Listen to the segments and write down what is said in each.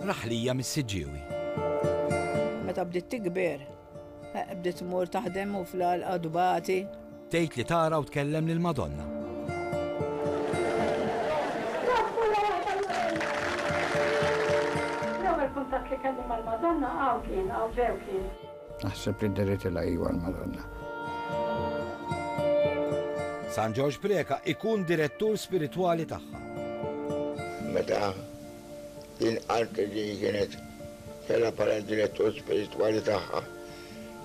Raħlija mis-Siġġiewi. Meta bdiet tikber, eh, bdiet tmur taħdem u fl-għalqa dbati. Tgħid li tara u tkellem lil Madonna. L-ewwel kuntatt li kelli mal-Madonna hawn kien, hawn ġew kien. Naħseb li deritilha iwa l-Madonna. San Ġorġ Preca ikun direttur spiritwali tagħha. Meta din qaltli li kienet kellha bħala direttur spiritwali tagħha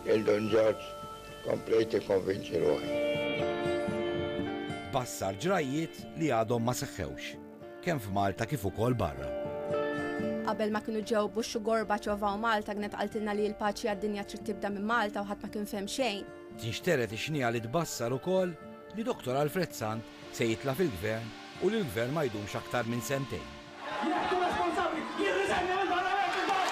lil Dun Ġorġ, komplejt nikkonvinċi ruħi. Tbassar ġrajjiet li għadhom ma seħħewx, kemm f'Malta kif ukoll barra. Qabel ma kienu ġew Bush u Gorbachev hawn Malta kienet qaltilna li l-paċi għad-dinja trid tibda minn Malta u ħadd ma kien fehem xejn. Tinxtered ix-xniegħa li tbassar ukoll li Dottor Alfred Sant se jitla' fil-Gvern u li l-Gvern ma jdumx aktar minn sentejn. Jekk hu responsabbli, jirriżenja mill-Parlament imbagħad!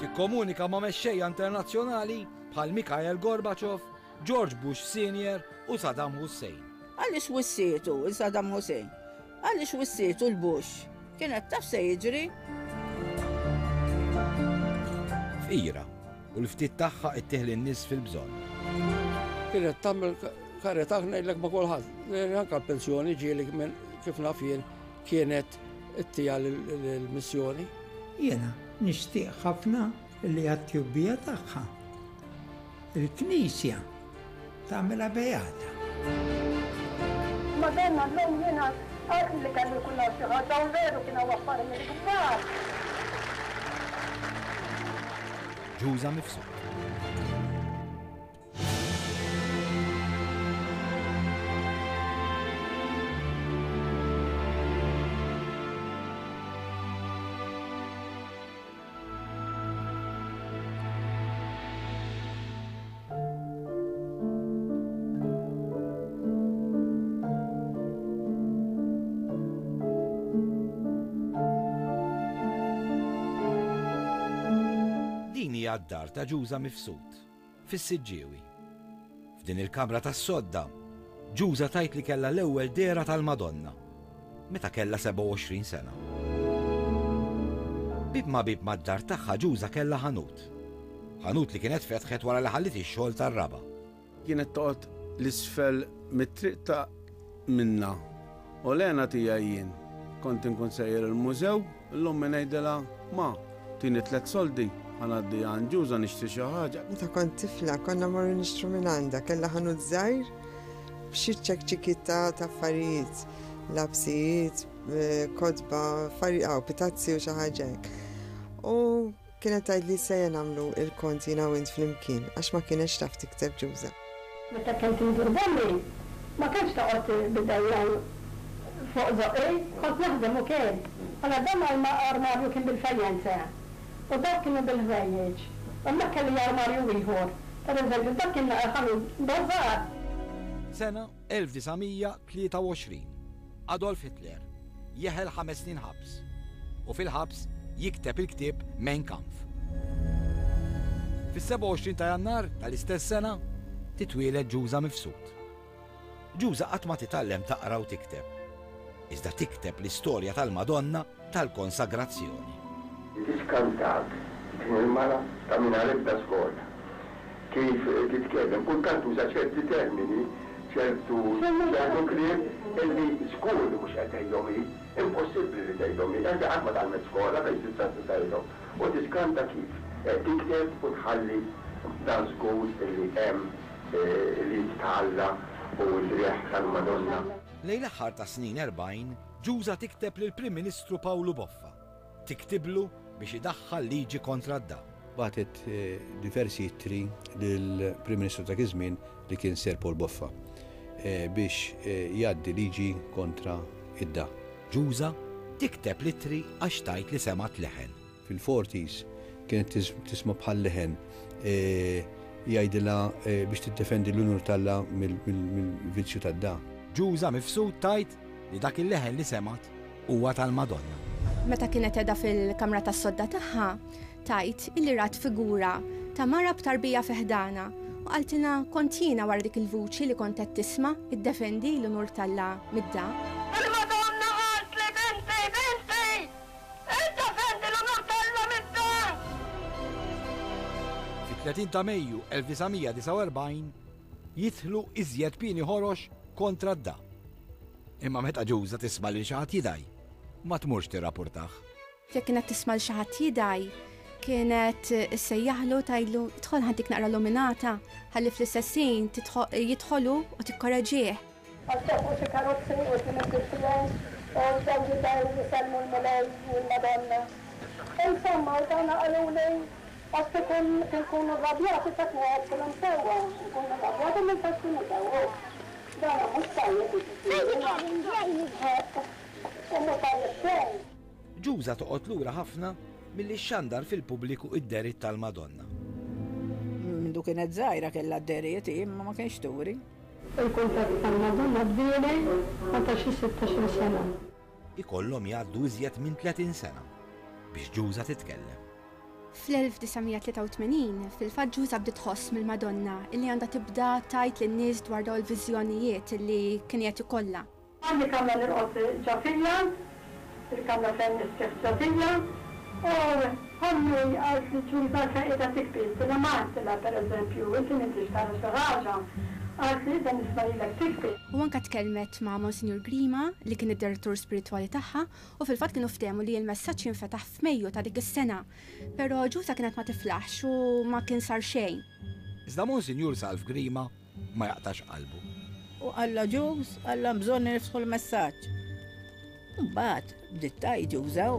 Tikkomunika ma' mexxejja internazzjonali bħal Mikhail Gorbachev, George Bush Senior u Saddam Hussein. Għaliex wissietu 'l Saddam Hussein? Għaliex wissietu 'l Bush? Kienet taf se jiġri. Fqira, u l-ftit tagħha ittih lin-nies fil-bżonn. Kienet tagħmel karità ngħidlek ma' kulħadd. Anke l-pensjoni ġieli minn kif naf jien kienet ittija lill-missjoni. Jiena nixtieq ħafna li għat-tjubbija tagħha il-Knisja tagħmilha beata. Madonna llum jiena qaltli li kellu jkun hawn xi ħaġa u veru kien hawn affarijiet kbar. Ġuża Mifsud. Din hija d-dar ta' Ġuża Mifsud, fis-Siġġiewi. F'din il-kamra tas-sodda, Ġuża tgħid li kellha l-ewwel dehra tal-Madonna, meta kellha 27 sena. Bieb ma' bieb mad-dar tagħha Ġuża kellha ħanut. Ħanut li kienet fetħet wara li ħalliet ix-xogħol tar-raba'. Kienet toqgħod 'l isfel mit-triq ta' minna u l-hena tiegħi jien. Kont inkun sejjer il-mużew, 'l ommi ngħidilha, Ma, tini tlett soldi, ħa ngħaddi għand Ġuża nixtri xi ħaġa. Meta kont tifla konna mmorru nixtru minn għandha, kellha ħanut żgħir b'xi ċekċikiet ta' affarijiet, lapsijiet, kotba, affarijiet, pitazzi u xi ħaġa hekk. U Kienet tgħidli se nagħmlu il-kont jiena u int flimkien għax ma kinetx taf tikteb Ġuża. Meta kont indur b'ommi ma kenx toqgħod b'idejja fuq żoqqi, kont naħdem ukoll. Allura dan armarju kien bil-fajjenze u dawk kienu bil-ħwejjeġ. U hemmhekk kelli armarju ieħor. Per eżempju dak kien naqra ħanut bażar. Sena 1923, Adolf Hitler jeħel ħames snin ħabs u fil-ħabs jikteb il-ktieb Mein Kampf. Fis-27 ta' Jannar tal-istess sena titwieled Ġuża Mifsud. Ġuża qatt ma titgħallem taqra u tikteb, iżda tikteb l-istorja tal-Madonna tal-Konsagrazzjoni. Tiskantak din il-mara ta' mingħajr ebda skola kif titkellem, kultant tuża ċerti termini, ċertu ċertu kliem illi żgur li mhux qed tgħidhom hi, impossibbli li tgħidhom hi, anke qatt ma tgħallmet skola fejn tista' tgħidhom. U tiskanta kif tikteb u tħalli dan żgur illi hemm l-id ta' Alla u l-riħ tal-Madonna. Lejn l-aħħar tas-snin 40, Ġuża tikteb lill-Prim Ministru Pawlu Boffa. Tiktiblu biex idaħħal liġi kontra d-dam. Bagħtet diversi ittri lill-Prim Ministru ta' dak iż-żmien li kien Sir Paul Boffa biex jgħaddi liġi kontra id-da. Ġuża tikteb l-ittri għax tgħid li semgħet leħen. Fil-forties kienet tisma' bħal leħen jgħidilha biex tiddefendi l-unur t'Alla mill-vizzju tad-da. Ġuża Mifsud tgħid li dak il-leħen li semgħet huwa tal-Madonna. Meta kienet qiegħda fil-kamra tas-sodda tagħha, tgħid illi rat figura ta' mara b'tarbija fi ħdanha u qaltilha kont jiena wara dik il-vuċi li kont qed tisma' iddefendi l-unur t'Alla mid-da. Il-Madonna qaltli binti, binti! Fit-30 ta' Mejju 1949 jidħlu iżjed pieni ħorox kontra d-da. Imma meta Ġuża tisma' lil xi ħadd jidgħi, ma tmurx tirrapurtah. Jekk kienet tisma' 'l xi ħadd jidgħi, kienet issejjaħlu tgħidlu idħol ħa ntik naqra luminata ħalli fl-istess ħin jidħol hu u tikkoreġih. Għax ġabu xi karozzi quddiem id-bieb tiegħi u bdew jidgħu jsellmu l-Mulej u l-Madonna. Insomma, u dawna qaluli għax kieku nkunu rrabjati ta' ngħidilhom sewwa, nkunu rrabjati minn ta' xi nidgħu. Dawna mhux tajjeb jiġifieri. U mhu tajjeb xejn. Ġuża toqgħod lura ħafna milli xxandar fil-pubbliku id-dehriet tal-Madonna. Mindu kienet żgħira kellha d-dehriet hi imma ma kienx turi. Il-kuntatt mal-Madonna bdieli meta xi sittax-il sena. Ikollhom jgħaddu iżjed minn 30 sena biex Ġuża titkellem. Fl-1983, fil-fatt Ġuża bdiet tħoss mill-Madonna illi għandha tibda tgħid lin-nies dwar dawn il-viżjonijiet illi kien qiegħed ikollha. Għandi kamra nirqod ġo fija, il-kamra fejn nistrieħ ġo fija, u ommi qaltli Ġuża għalfejn qiegħda tibki, għedtilha ma għedtilha pereżempju inti m'intix tara xi ħaġa, qaltli qiegħda nisma' lilek tibki. U anke tkellmet ma' Monsinjur Grima li kien id-direttur spiritwali tagħha u fil-fatt kienu ftehmu li l-messaġġ jinfetaħ f'Mejju ta' dik is-sena. Però Ġuża kienet ma tiflaħx u ma kien sar xejn. Iżda Monsinjur Salv Grima ma jaqtax qalbu. U qallha Ġuż, qallha hemm bżonn li niftħu l-messaġġ. Imbagħad bdiet tgħid Ġuża u.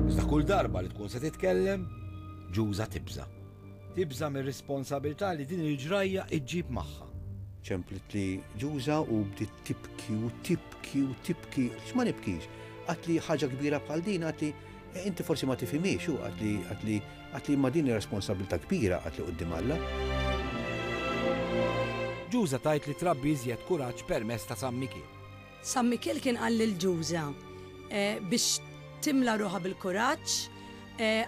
Iżda kull darba li tkun se titkellem, Ġuża tibża'. Tibża' mir-responsabilità li din il-ġrajja ġġib magħha. Ċemplitli Ġuża u bdiet tibki u tibki u tibki. X'ma nibkix? Qaltli ħaġa kbira bħal din, qaltli inti forsi ma tifhimhiex, u qaltli qaltli Qaltli imma din hi responsabbiltà kbira, qaltli quddiem Alla. Ġuża tgħid li trabbi iżjed kuraġġ permezz ta' San Mikiel. San Mikiel kien qal lil Ġuża biex timla ruħha bil-kuraġġ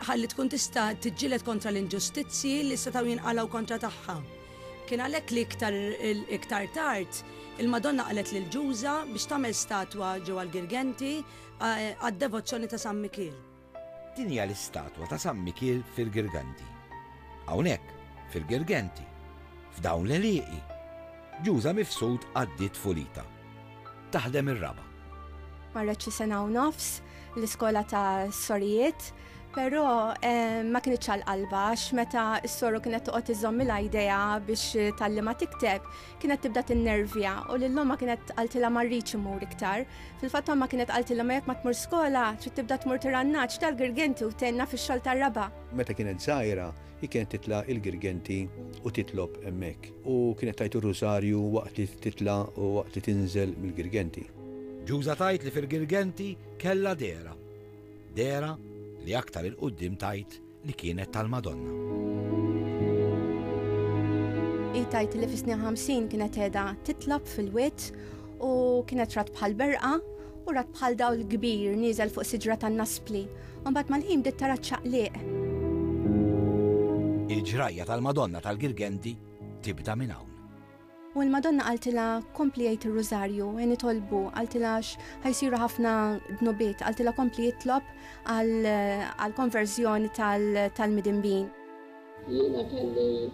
ħalli tkun tista' tiġġieled kontra l-inġustizzji li setgħu jinqalgħu kontra tagħha. Kien għalhekk li iktar iktar tard il-Madonna qalet lil Ġuża biex tagħmel statwa ġewwa l-Girgenti għad-devozzjoni ta' San Mikiel. Din hija l-istatwa ta' San Mikiel fil-Girgenti. Hawnhekk, fil-Girgenti, f'dawn l-għelieqi, Ġuża Mifsud għaddiet tfulitha. Taħdem ir-raba'. Marret xi sena u nofs l-iskola tas-sorijiet, però ma kinitx għal qalbha għax meta s-soru kienet toqgħod iżżommilha jdejha biex tgħallimha tikteb, kienet tibda tinnervja u lil ommha kienet qaltilha ma rridx immur iktar. Fil-fatt ommha kienet qaltilha ma jekk ma tmur skola, trid tibda tmur tirgħa n-nagħaġ tal-Girgenti u tgħinna fix-xogħol tar-raba'. Meta kienet żgħira, hi kienet titla' il-Girgenti u titlob hemmhekk. U kienet tgħid ir-Rużarju waqt li titla' u waqt li tinżel mill-Girgenti. Ġuża tgħid li fil-Girgenti kellha dehra. Dehra li aktar 'il quddiem tgħid li kienet tal-Madonna. Hi tgħid li fis-snin 50 kienet qiegħda titlob fil-wied u kienet rat bħal berqa u rat bħal dawl kbir nieżel fuq siġra tan-naspli. U mbagħad mal-ħin bdiet tara ċ-ċaqliq. Il-ġrajja tal-Madonna tal-Girgenti tibda minn hawn. U l-Madonna qaltilha kompli għid ir-rużarju, e nitolbu, qaltilha għax ħa jsiru ħafna dnubiet, qaltilha kompli itlob għall-konverżjoni tal-midinbin. Jiena kelli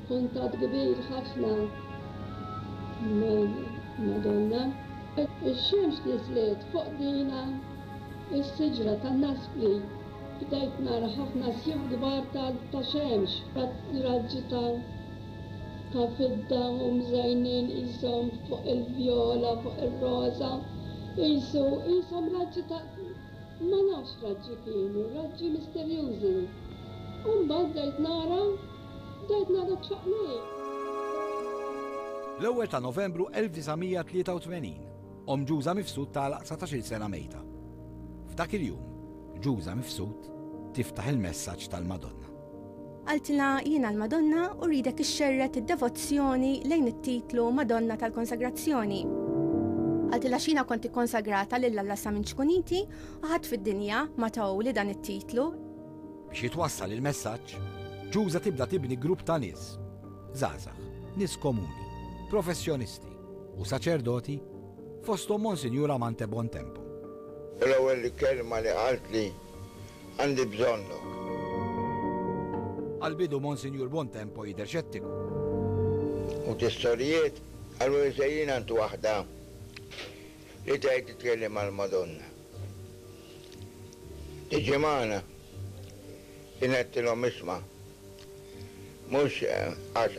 kuntatt kbir ħafna mal-Madonna. Ix-xemx niżlet fuq dina s-siġra tan-naspli. Bdejt nara ħafna sjuf kbar ta' xemx, raġġi ta' ta' fidda u mżejnin qishom fuq il-vjola, fuq ir-roża, qisu, qishom raġġi ta' ma nafx raġġi kienu, raġġi misterjużi. U mbagħad bdejt nara, bdejt nara ċ-ċaqliq. L-ewwel ta' Novembru 1983, omm Ġuża Mifsud tagħlaq 19-il sena mejta. F'dak il-jum, Ġuża Mifsud tiftaħ il-messaġġ tal-Madonna. Qaltilha, Jiena l-Madonna u rridek ixxerred id-devozzjoni lejn it-titlu Madonna tal-Konsagrazzjoni. Qaltilha għax jiena kont ikkonsagrata lil Alla sa minn ċkuniti u ħadd fid-dinja ma tahuli dan it-titlu. Biex jitwassal il-messaġġ, Ġuża tibda tibni grupp ta' nies, żgħażagħ, nies komuni, professjonisti u saċerdoti, fosthom Monsinjur Amante Bontempo. U l-ewwel kelma li qaltli Għandi bżonnok. Għall-bidu Monsinjur Buontempo jidher xettiku. U t-sorijiet qalu li sejrin għand waħda li tgħid titkellem mal-Madonna. Tiġi magħna? Jien għedtilhom isma' mhux għax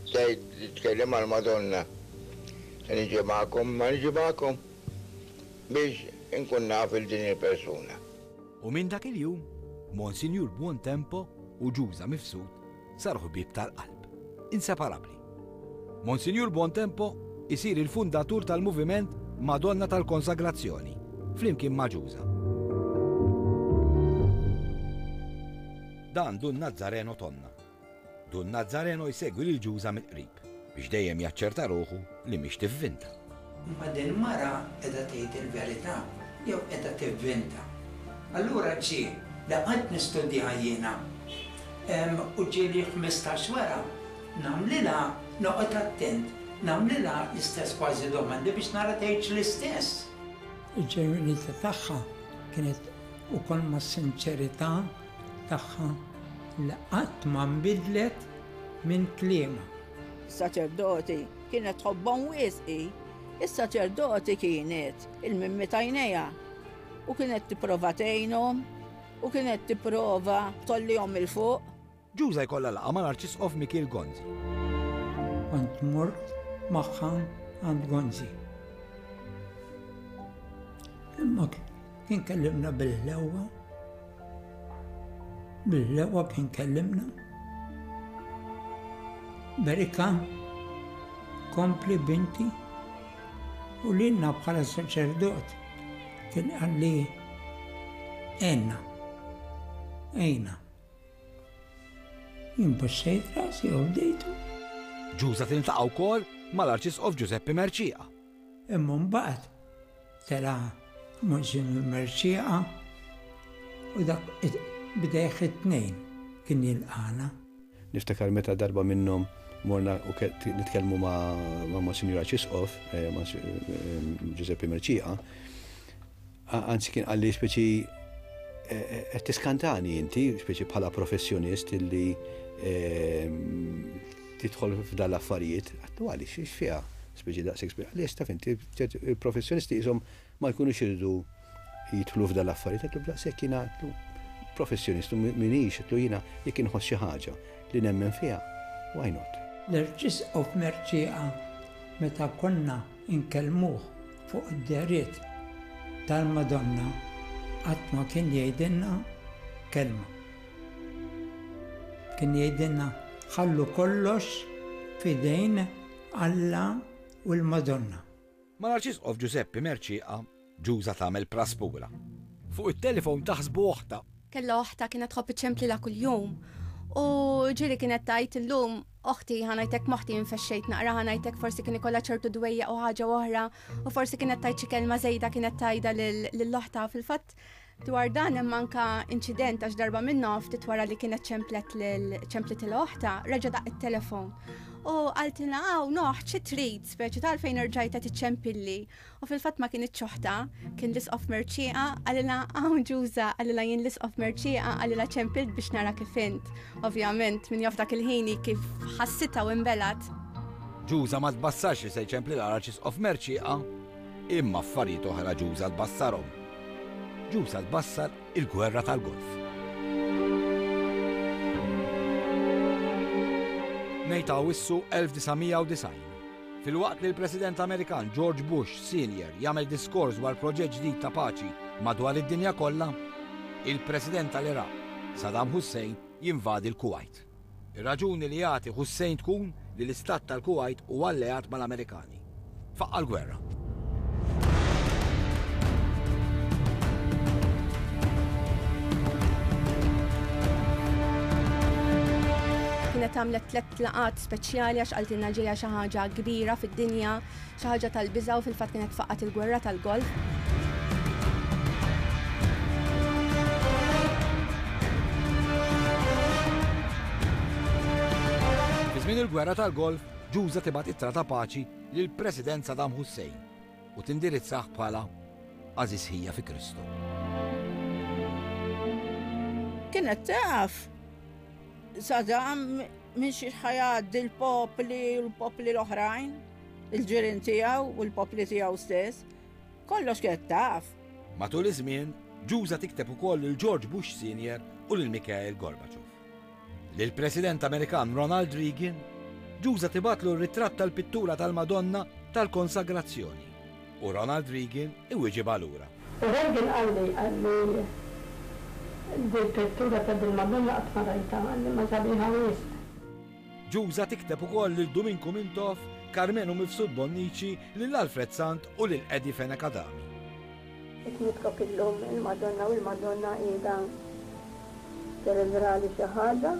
tgħid li titkellem mal-Madonna se niġi magħkom imma niġi magħkom biex inkun naf 'il din il-persuna. U minn dak il-jum, Monsinjur Buontempo u Ġuża Mifsud saru ħbieb tal-qalb, inseparabbli. Monsinjur Buontempo isir il-fundatur tal-moviment Madonna tal-Konsagrazzjoni, flimkien ma' Ġuża. Dan Dun Nazzareno Tonna. Dun Nazzareno jsegwi lil Ġuża mill-qrib biex dejjem jaċċerta ruħu li mhix tivvinta. Imma din mara qiegħda tgħid il-verità jew qiegħda tivvinta? Allura ġie li qgħadt nistudjaha jiena u ġieli 15 wara nagħmlilha noqgħod attent, nagħmlilha l-istess kważi domandi biex nara tgħidx l-istess. Il-ġenwinità tagħha kienet ukoll mas-sinċerità tagħha li qatt ma nbidlet minn kliemha. Is-saċerdoti kienet tħobbhom wisq hi. Is-saċerdoti kienet il-mimmi t'għajnejha u kienet tipprova tgħinhom u kienet tipprova tgħollihom 'il fuq. Ġuża jkollha laqgħa mal-Arċisqof Mikiel Gonzi. Kont mort magħha għand Gonzi. Imma kien kellimna bil-ħlewwa. Bil-ħlewwa kien kellimna. Berika, kompli binti, u lilna bħala saċerdot kien qalli għenna, għejna. Jien baxxejt rasi u bdejtu. Ġuża tiltaqa' wkoll mal-Arċisqof Ġużeppi Mercieca. Imma mbagħad tela' Monsinjur Mercieca u dak b'idejh it-tnejn kien jilqagħna. Niftakar meta darba minnhom morna u nitkellmu ma' Monsinjur Arċisqof, Ġużeppi Mercieca, Anzi kien qalli speċi qed tiskantani inti, speċi bħala professjonist illi tidħol f'dan l-affarijiet. Għattu għaliex, x'fiha speċi daqshekk speċi. Għaliex taf inti, il-professjonisti qishom ma jkunux iridu jidħlu f'dan l-affarijiet. Għattu b'daqshekk jiena għattu professjonist u minix, għattu jiena jekk inħoss xi ħaġa li nemmen fiha, why not? L-Arċisqof Mercieca meta konna nkellmuh fuq id-dehriet tal-Madonna qatt ma kien jgħidilna kelma. Kien jgħidilna ħallu kollox f'idejn Alla u l-Madonna. Mal-Arċisqof Ġużeppi Mercieca Ġuża tagħmel praspura. Fuq it-telefon taħsbu oħtha. Kellha oħtha kienet tħobb iċċemplilha kuljum. U ġieli kienet tgħid illum oħti ħa ngħidlek moħħti infexxejt naqra ħa ngħidlek forsi kien ikollha ċertu dwejjaq u ħaġa oħra u forsi kienet tgħid xi kelma żejda kienet tgħidha lil oħtha fil-fatt dwar dan hemm anka inċident għax darba minnhom ftit wara li kienet ċemplet lil ċemplet il oħtha reġa' daq it-telefon. U qaltilna hawn noħ xi trid speċi tal fejn erġajt qed iċċempilli. U fil-fatt ma kinitx oħtha, kien l-Isqof Mercieca, qalilha hawn Ġuża, qalilha jien l-Isqof Mercieca, qalilha ċempilt biex nara kif int. Ovvjament, min jaf dak il-ħin hi kif ħassitha u inbelgħet. Ġuża ma tbassarx li se jċemplilha l-Arċisqof Mercieca, imma affarijiet oħra Ġuża tbassarhom. Ġuża tbassar il-Gwerra tal-Golf. Ngħid Awwissu 1990. Filwaqt li l-President Amerikan George Bush Senior jagħmel diskors dwar proġett ġdid ta' paċi madwar id-dinja kollha, il-President tal-Iraq, Saddam Hussein, jinvadi l-Kuwajt. Ir-raġuni li jagħti Hussein tkun li l-istat tal-Kuwajt hu alleat mal-Amerikani. Faqqa' l-gwerra. Kienet għamlet tlett laqgħat speċjali għax qaltilna ġejja xi ħaġa kbira fid-dinja, xi ħaġa tal-biża' u fil-fatt kienet faqqgħet il-gwerra tal-Golf. Fi żmien il-gwerra tal-Golf, Ġuża tibgħat ittra ta' paċi lill-President Saddam Hussein u tindirizzah bħala għażiż ħija fi Kristu. Kienet taf! Saddam minn xi ħajgħaddi l-popli u l-popli l-oħrajn, il-ġirien tiegħu u l-popli tiegħu stess. Kollox kienet taf. Matul iż-żmien, Ġuża tikteb ukoll lil George Bush Senior u lil Mikhail Gorbachev. Lill-President Amerikan Ronald Reagan, Ġuża tibgħatlu r-ritratt tal-pittura tal-Madonna tal-Konsagrazzjoni u Ronald Reagan iwieġibha lura. U Reagan qalli, qalli, Dil-pittura ta' dil-Madonna qatt ma rajtha, qalli, ma sabiħa wisq. Ġuża tikteb ukoll lil Duminku Mintoff, Karmenu Mifsud Bonnici, lil Alfred Sant u lil Eddie Fenech Adami. Qed nitlob illum il-Madonna u l-Madonna qiegħda tirrivelali xi ħaġa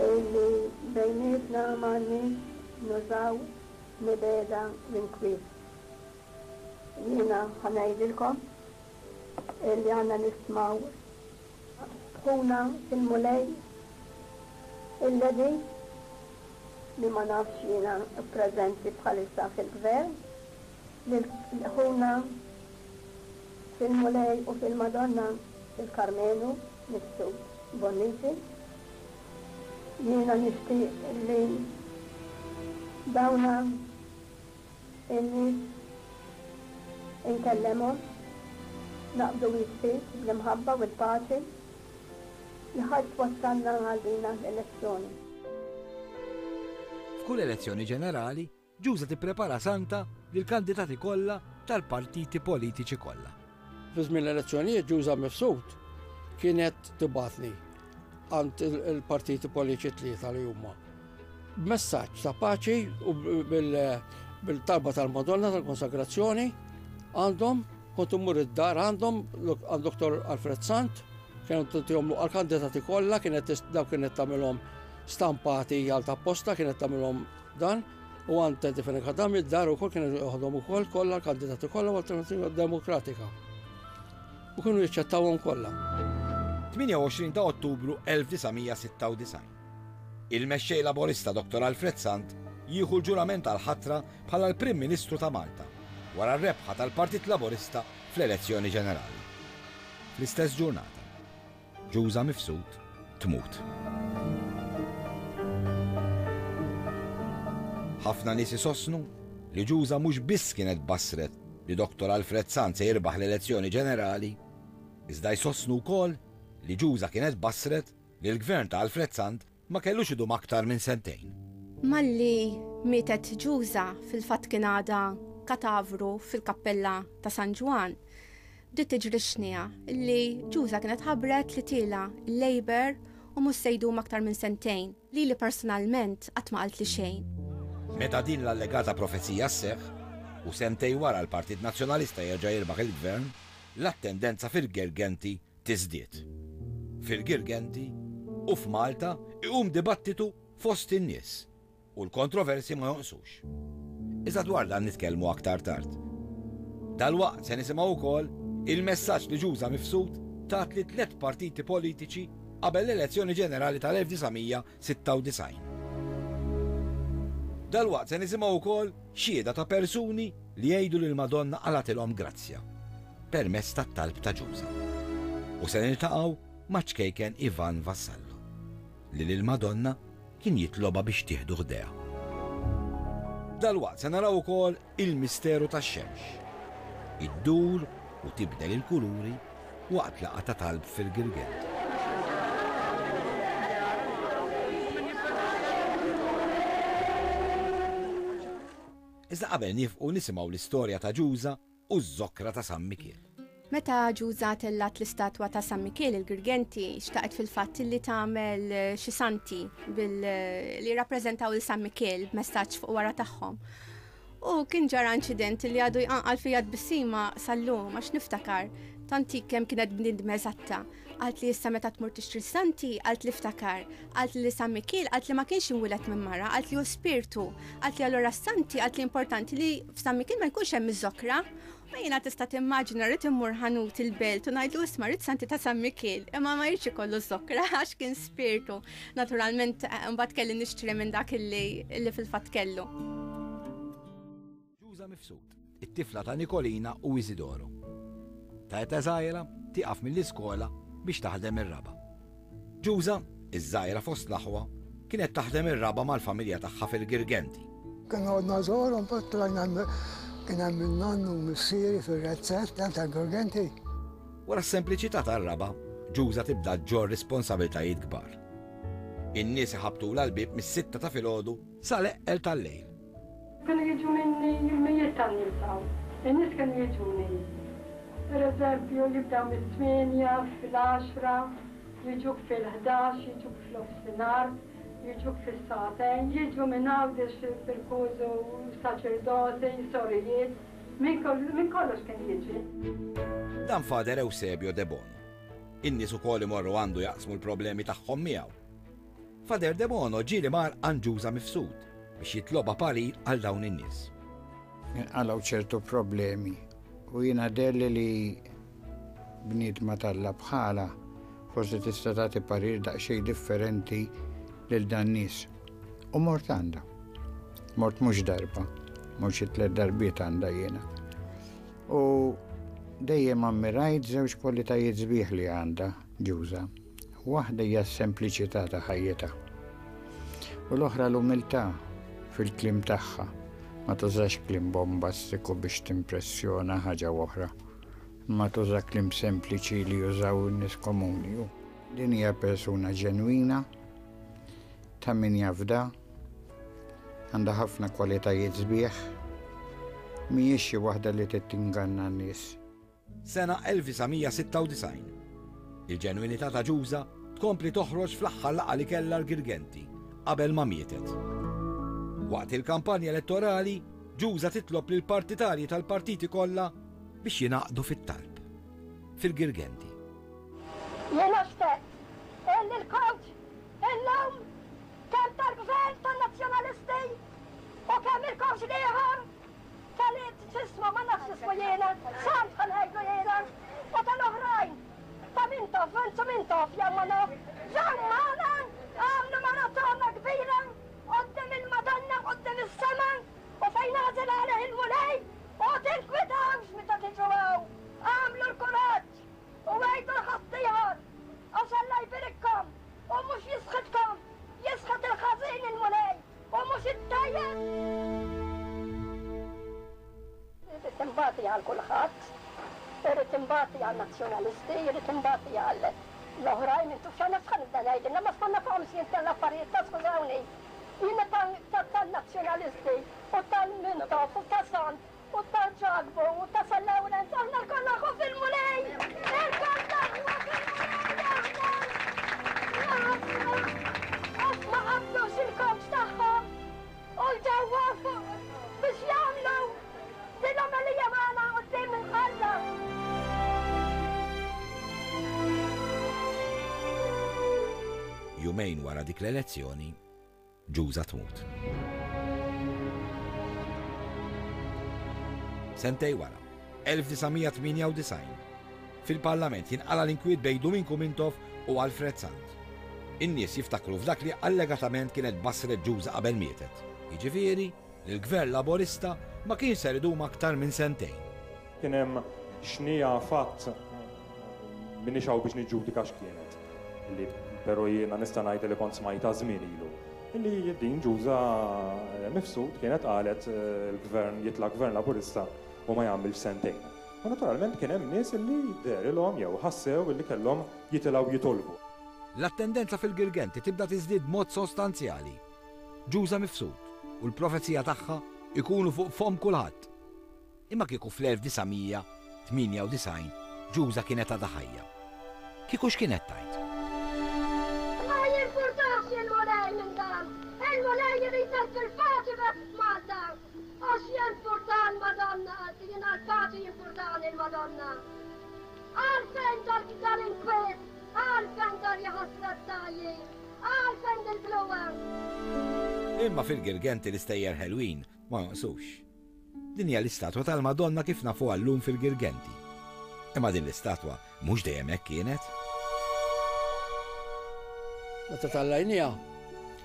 illi bejnietna m'għandniex nużaw mibegħda u inkwiet. Jiena ħa ngħidilkom illi għandna nistmaw ħuna fil-Mulej il-Lady li ma nafx jiena preżenti bħalissa fil-Gvern, lil ħuna fil-Mulej u fil-Madonna il-Karmenu Mifsud Bonnici. Jiena nixtieq li dawna in-nies inkellemhom, naqbdu id f'id bl-imħabba u l-paċi li ħa twassalna għal dina l-elezzjoni. F'kull elezzjoni ġenerali, Ġuża tipprepara santa lill-kandidati kollha tal-partiti politiċi kollha. Fi żmien l-elezzjonijiet Ġuża Mifsud kienet tibgħatni għand il-partiti politiċi tlieta li huma. B'messaġġ ta' paċi u bil-talba tal-Madonna tal-Konsagrazzjoni għandhom kont immur id-dar għandhom għand Dr. Alfred Sant, kienu tihom għal-kandidati kollha, kienet daw kienet tagħmilhom stampati għal ta' posta, kienet tagħmilhom Dan u għand Teddy Fenech Adami d-dar ukoll kienu joħodhom ukoll kollha l-kandidati kollha u Alternativa Demokratika. U kienu jiċċettawhom kollha. 28 ta' Ottubru 1996. Il-Mexxej Laburista Dottor Alfred Sant jieħu l-ġurament għall-ħatra bħala l-Prim Ministru ta' Malta wara r-rebħa tal-Partit Laburista fl-elezzjoni ġenerali. Fl-istess ġurnata. Ġuża Mifsud tmut. Ħafna nies isostnu li Ġuża mhux biss kienet bassret li Dottor Alfred Sant se jirbaħ l-elezzjoni ġenerali, iżda jsostnu wkoll li Ġuża kienet bassret li l-gvern ta' Alfred Sant ma kellux idum aktar minn sentejn. Malli mietet Ġuża, fil-fatt kien għadha katavru fil-kappella ta' San Ġwann, bdiet tiġri x-xniegħa li Ġuża kienet ħabbret li tiela' l-Labour u mhux se jdum aktar minn sentejn. Lili personalment qatt ma qaltli xejn. Meta din l-allegata profezija sseħħ, u sentejn wara l-Partit Nazzjonalista jerġa' jirbaħ il-Gvern, l-attendenza fil-Girgenti tiżdied. Fil-Girgenti u f'Malta iqum dibattitu fost in-nies u l-kontroversji ma jonqsux. Iżda dwar dan nitkellmu aktar tard. Dalwaqt se nisimgħu wkoll il-messaġġ li Ġuża Mifsud tat lit-tliet partiti politiċi qabel l-elezzjoni ġenerali tal-1996. Dalwaqt se nisimgħu wkoll xhieda ta' persuni li jgħidu li l-Madonna qalgħatilhom grazzja permezz tat-talb ta' Ġuża. U se niltaqgħu maċ-ċkejken Ivan Vassallo li lill-Madonna kien jitlobha biex tieħdu ħdejha. Dalwaqt se naraw ukoll il-misteru tax-xemx. Iddur u tibdel il-kuluri waqt laqgħa ta' talb fil-Girgent. Iżda qabel niefqu nisimgħu l-istorja ta' Ġuża u z-zokkra ta' San Mikiel. Meta Ġuża tellgħet l-istatwa ta' San Mikiel il-Girgenti, xtaqet fil-fatt li tagħmel xi santi bil li jirrappreżentaw lil San Mikiel b'messaġġ fuq wara tagħhom. U kien ġara inċident li għadu jqanqal fija tbissima sal-lum għax niftakar tant hi kemm kienet bniedma eżatta. Qaltli issa meta tmur tixtri s-santi, qaltli ftakar. Qaltli li San Mikiel, qaltli ma kienx imwieled minn mara, qaltli hu spirtu. Qaltli allura s-santi, qaltli importanti li f'San Mikiel ma jkunx hemm iż-żokra. U jiena tista' timmaġina rrid immur ħanut il-belt u ngħidlu isma' rrid santi ta' San Mikiel, imma ma jridx ikollu ż-żokra għax kien spirtu. Naturalment mbagħad kelli nixtri minn dak illi fil-fatt kellu. Ġuża Mifsud, it-tifla ta' Nikolina u Isidoro. Ta' età żgħira tieqaf mill-iskola biex taħdem ir-raba'. Ġuża, Iż-żgħira fost l-aħwa, kienet taħdem ir-raba' mal-familja tagħha fil-Girgenti. Konna għodna żgħar u mbagħad tlajna kien hemm in-nannu u missieri fir-razzett tal-Girgenti. Wara s-sempliċità tar-raba', Ġuża tibda ġġorr responsabiltajiet kbar. In-nies iħabbtulha l-bieb mis-sitta ta' filgħodu sal-eqqel tal-lejl. Kienu jiġu minni mijiet ta' nies hawn. In-nies kienu jiġuni. Pereżempju, jibdew mit-tmienja, fil-għaxra, jiġuk fil-ħdax, jiġuk f'nofsinhar, jiġuk fis-sagħtejn, jiġu minn Għawdex bil-kużu saċerdoti, sorijiet, minn minn kollox kien jiġi. Dan Father Eusebio Debono. In-nies ukoll imorru għandu jaqsmu l-problemi tagħhom miegħu. Father Debono ġieli mar għand Ġuża Mifsud biex jitlobha parir għal dawn in-nies. Inqalgħu ċertu problemi u jiena deherli li bniedma t'Alla bħalha forsi tista' tagħti parir daqsxejn differenti lil dan nies. U mort għandha. Mort mhux darba, mort xi tlett darbiet għandha jiena. U dejjem ammirajt żewġ kwalitajiet sbieħ li għandha Ġuża. Waħda hija s-sempliċità ta' ħajjitha. U l-oħra l-umiltà fil-kliem tagħha. Ma tużax kliem bombastiku biex timpressjona ħaġa u oħra, imma tuża kliem sempliċi li jużaw in-nies komuni. U din hija persuna ġenwina, ta' min jafda, għandha ħafna kwalitajiet sbieħ, mhijiex xi waħda li trid tinganna n-nies. Sena 1996. Il-ġenwinità ta' Ġuża tkompli toħroġ fl-aħħar laqgħa li kellha l-Girgenti qabel ma mietet. Waqt il-kampanja elettorali, Ġuża titlob lill-partitarji tal-partiti kollha biex jingħaqdu fit-talb. Fil-Girgenti. Jiena xtaqt illi l-coach illum kemm tal-Gvern tan-Nazzjonalisti u kemm il-coach l-ieħor Tal x'ismu, ma nafx x'ismu jiena, Sant ħa ngħidlu jiena, u tal-oħrajn, ta' Mintoff, Renzu Mintoff jew ma naf, ġew magħna, għamlu maratona kbira quddiem il-Madonna, quddiem is-sema, u fejn għażel għalih il-Mulej, u tinkwitawx meta tiġu hawn, agħmlu l-kuraġġ u għidu 'l ħaddieħor, għax Alla jbirikkom u mhux jisħitkom, jisħet il-ħażin il-Mulej. U mhux it-tajjeb! Irrid inbati għal kulħadd. Irrid inbati għan-Nazzjonalisti, irrid inbati għal l-oħrajn, intu x'għandna x'ħa nibda ngħidilna, ma x'konna fuqhom x'jien tal-affarijiet ta' skużawni. Jiena tan-Nazzjonalisti u tal-Mintoff u ta' Sant U ta' Ġakbu u ta' San Lawrenz, aħna lkoll aħwa fil-Mulej! Ilkoll aħwa fil-Mulej aħna! Jaħasra! Għax ma qablux il-kowċ tagħhom u ġew waqfu biex jagħmlu din l-omelija magħna quddiem Alla. Jumejn wara dik l-elezzjoni, Ġuża tmut. Sentej wara, 1998, fil-Parlament jinqala' l-inkwiet bejn Duminku Mintoff u Alfred Sant. In-nies jiftakru f'dak li allegatament kienet bassret Ġuża qabel mietet, jiġifieri li l-Gvern Laburista ma kienx ser idum aktar minn sentejn. Kien hemm xniegħa fatt, m'iniex hawn biex niġġudika x'kienet, li però jiena nista' ngħid li kont smajtha żmien ilu, li din Ġuża Mifsud kienet qalet il-Gvern jitla' Gvern Laburista u ma jagħmilx sentejn. U naturalment kien hemm nies li dehrilhom jew ħassew li kellhom jitilgħu jitolbu. L-attendenza fil-Girgenti tibda tiżdied b'mod sostanzjali. Ġuża Mifsud u l-profezija tagħha jkunu fuq fomm kulħadd. Imma kieku fl-1998 Ġuża kienet għadha ħajja, kieku x'kienet tgħid? Ma jimpurtax il-Mulej minn dan. Il-Mulej irid il-paċi biss f'Malta. Għax jimpurta l-Madonna, qalti jiena l-paċi jimpurtani l-Madonna. Għalfejn dal-inkwiet, għalfejn dal-jaħasra t-tajji, għalfejn dil-bluwa. Imma fil-Girgenti l-istejjer ħelwin ma jonqsux. Din hija l-istatwa tal-Madonna kif nafuha llum fil-Girgenti. Imma din l-istatwa mhux dejjem hekk kienet. Meta tallajniha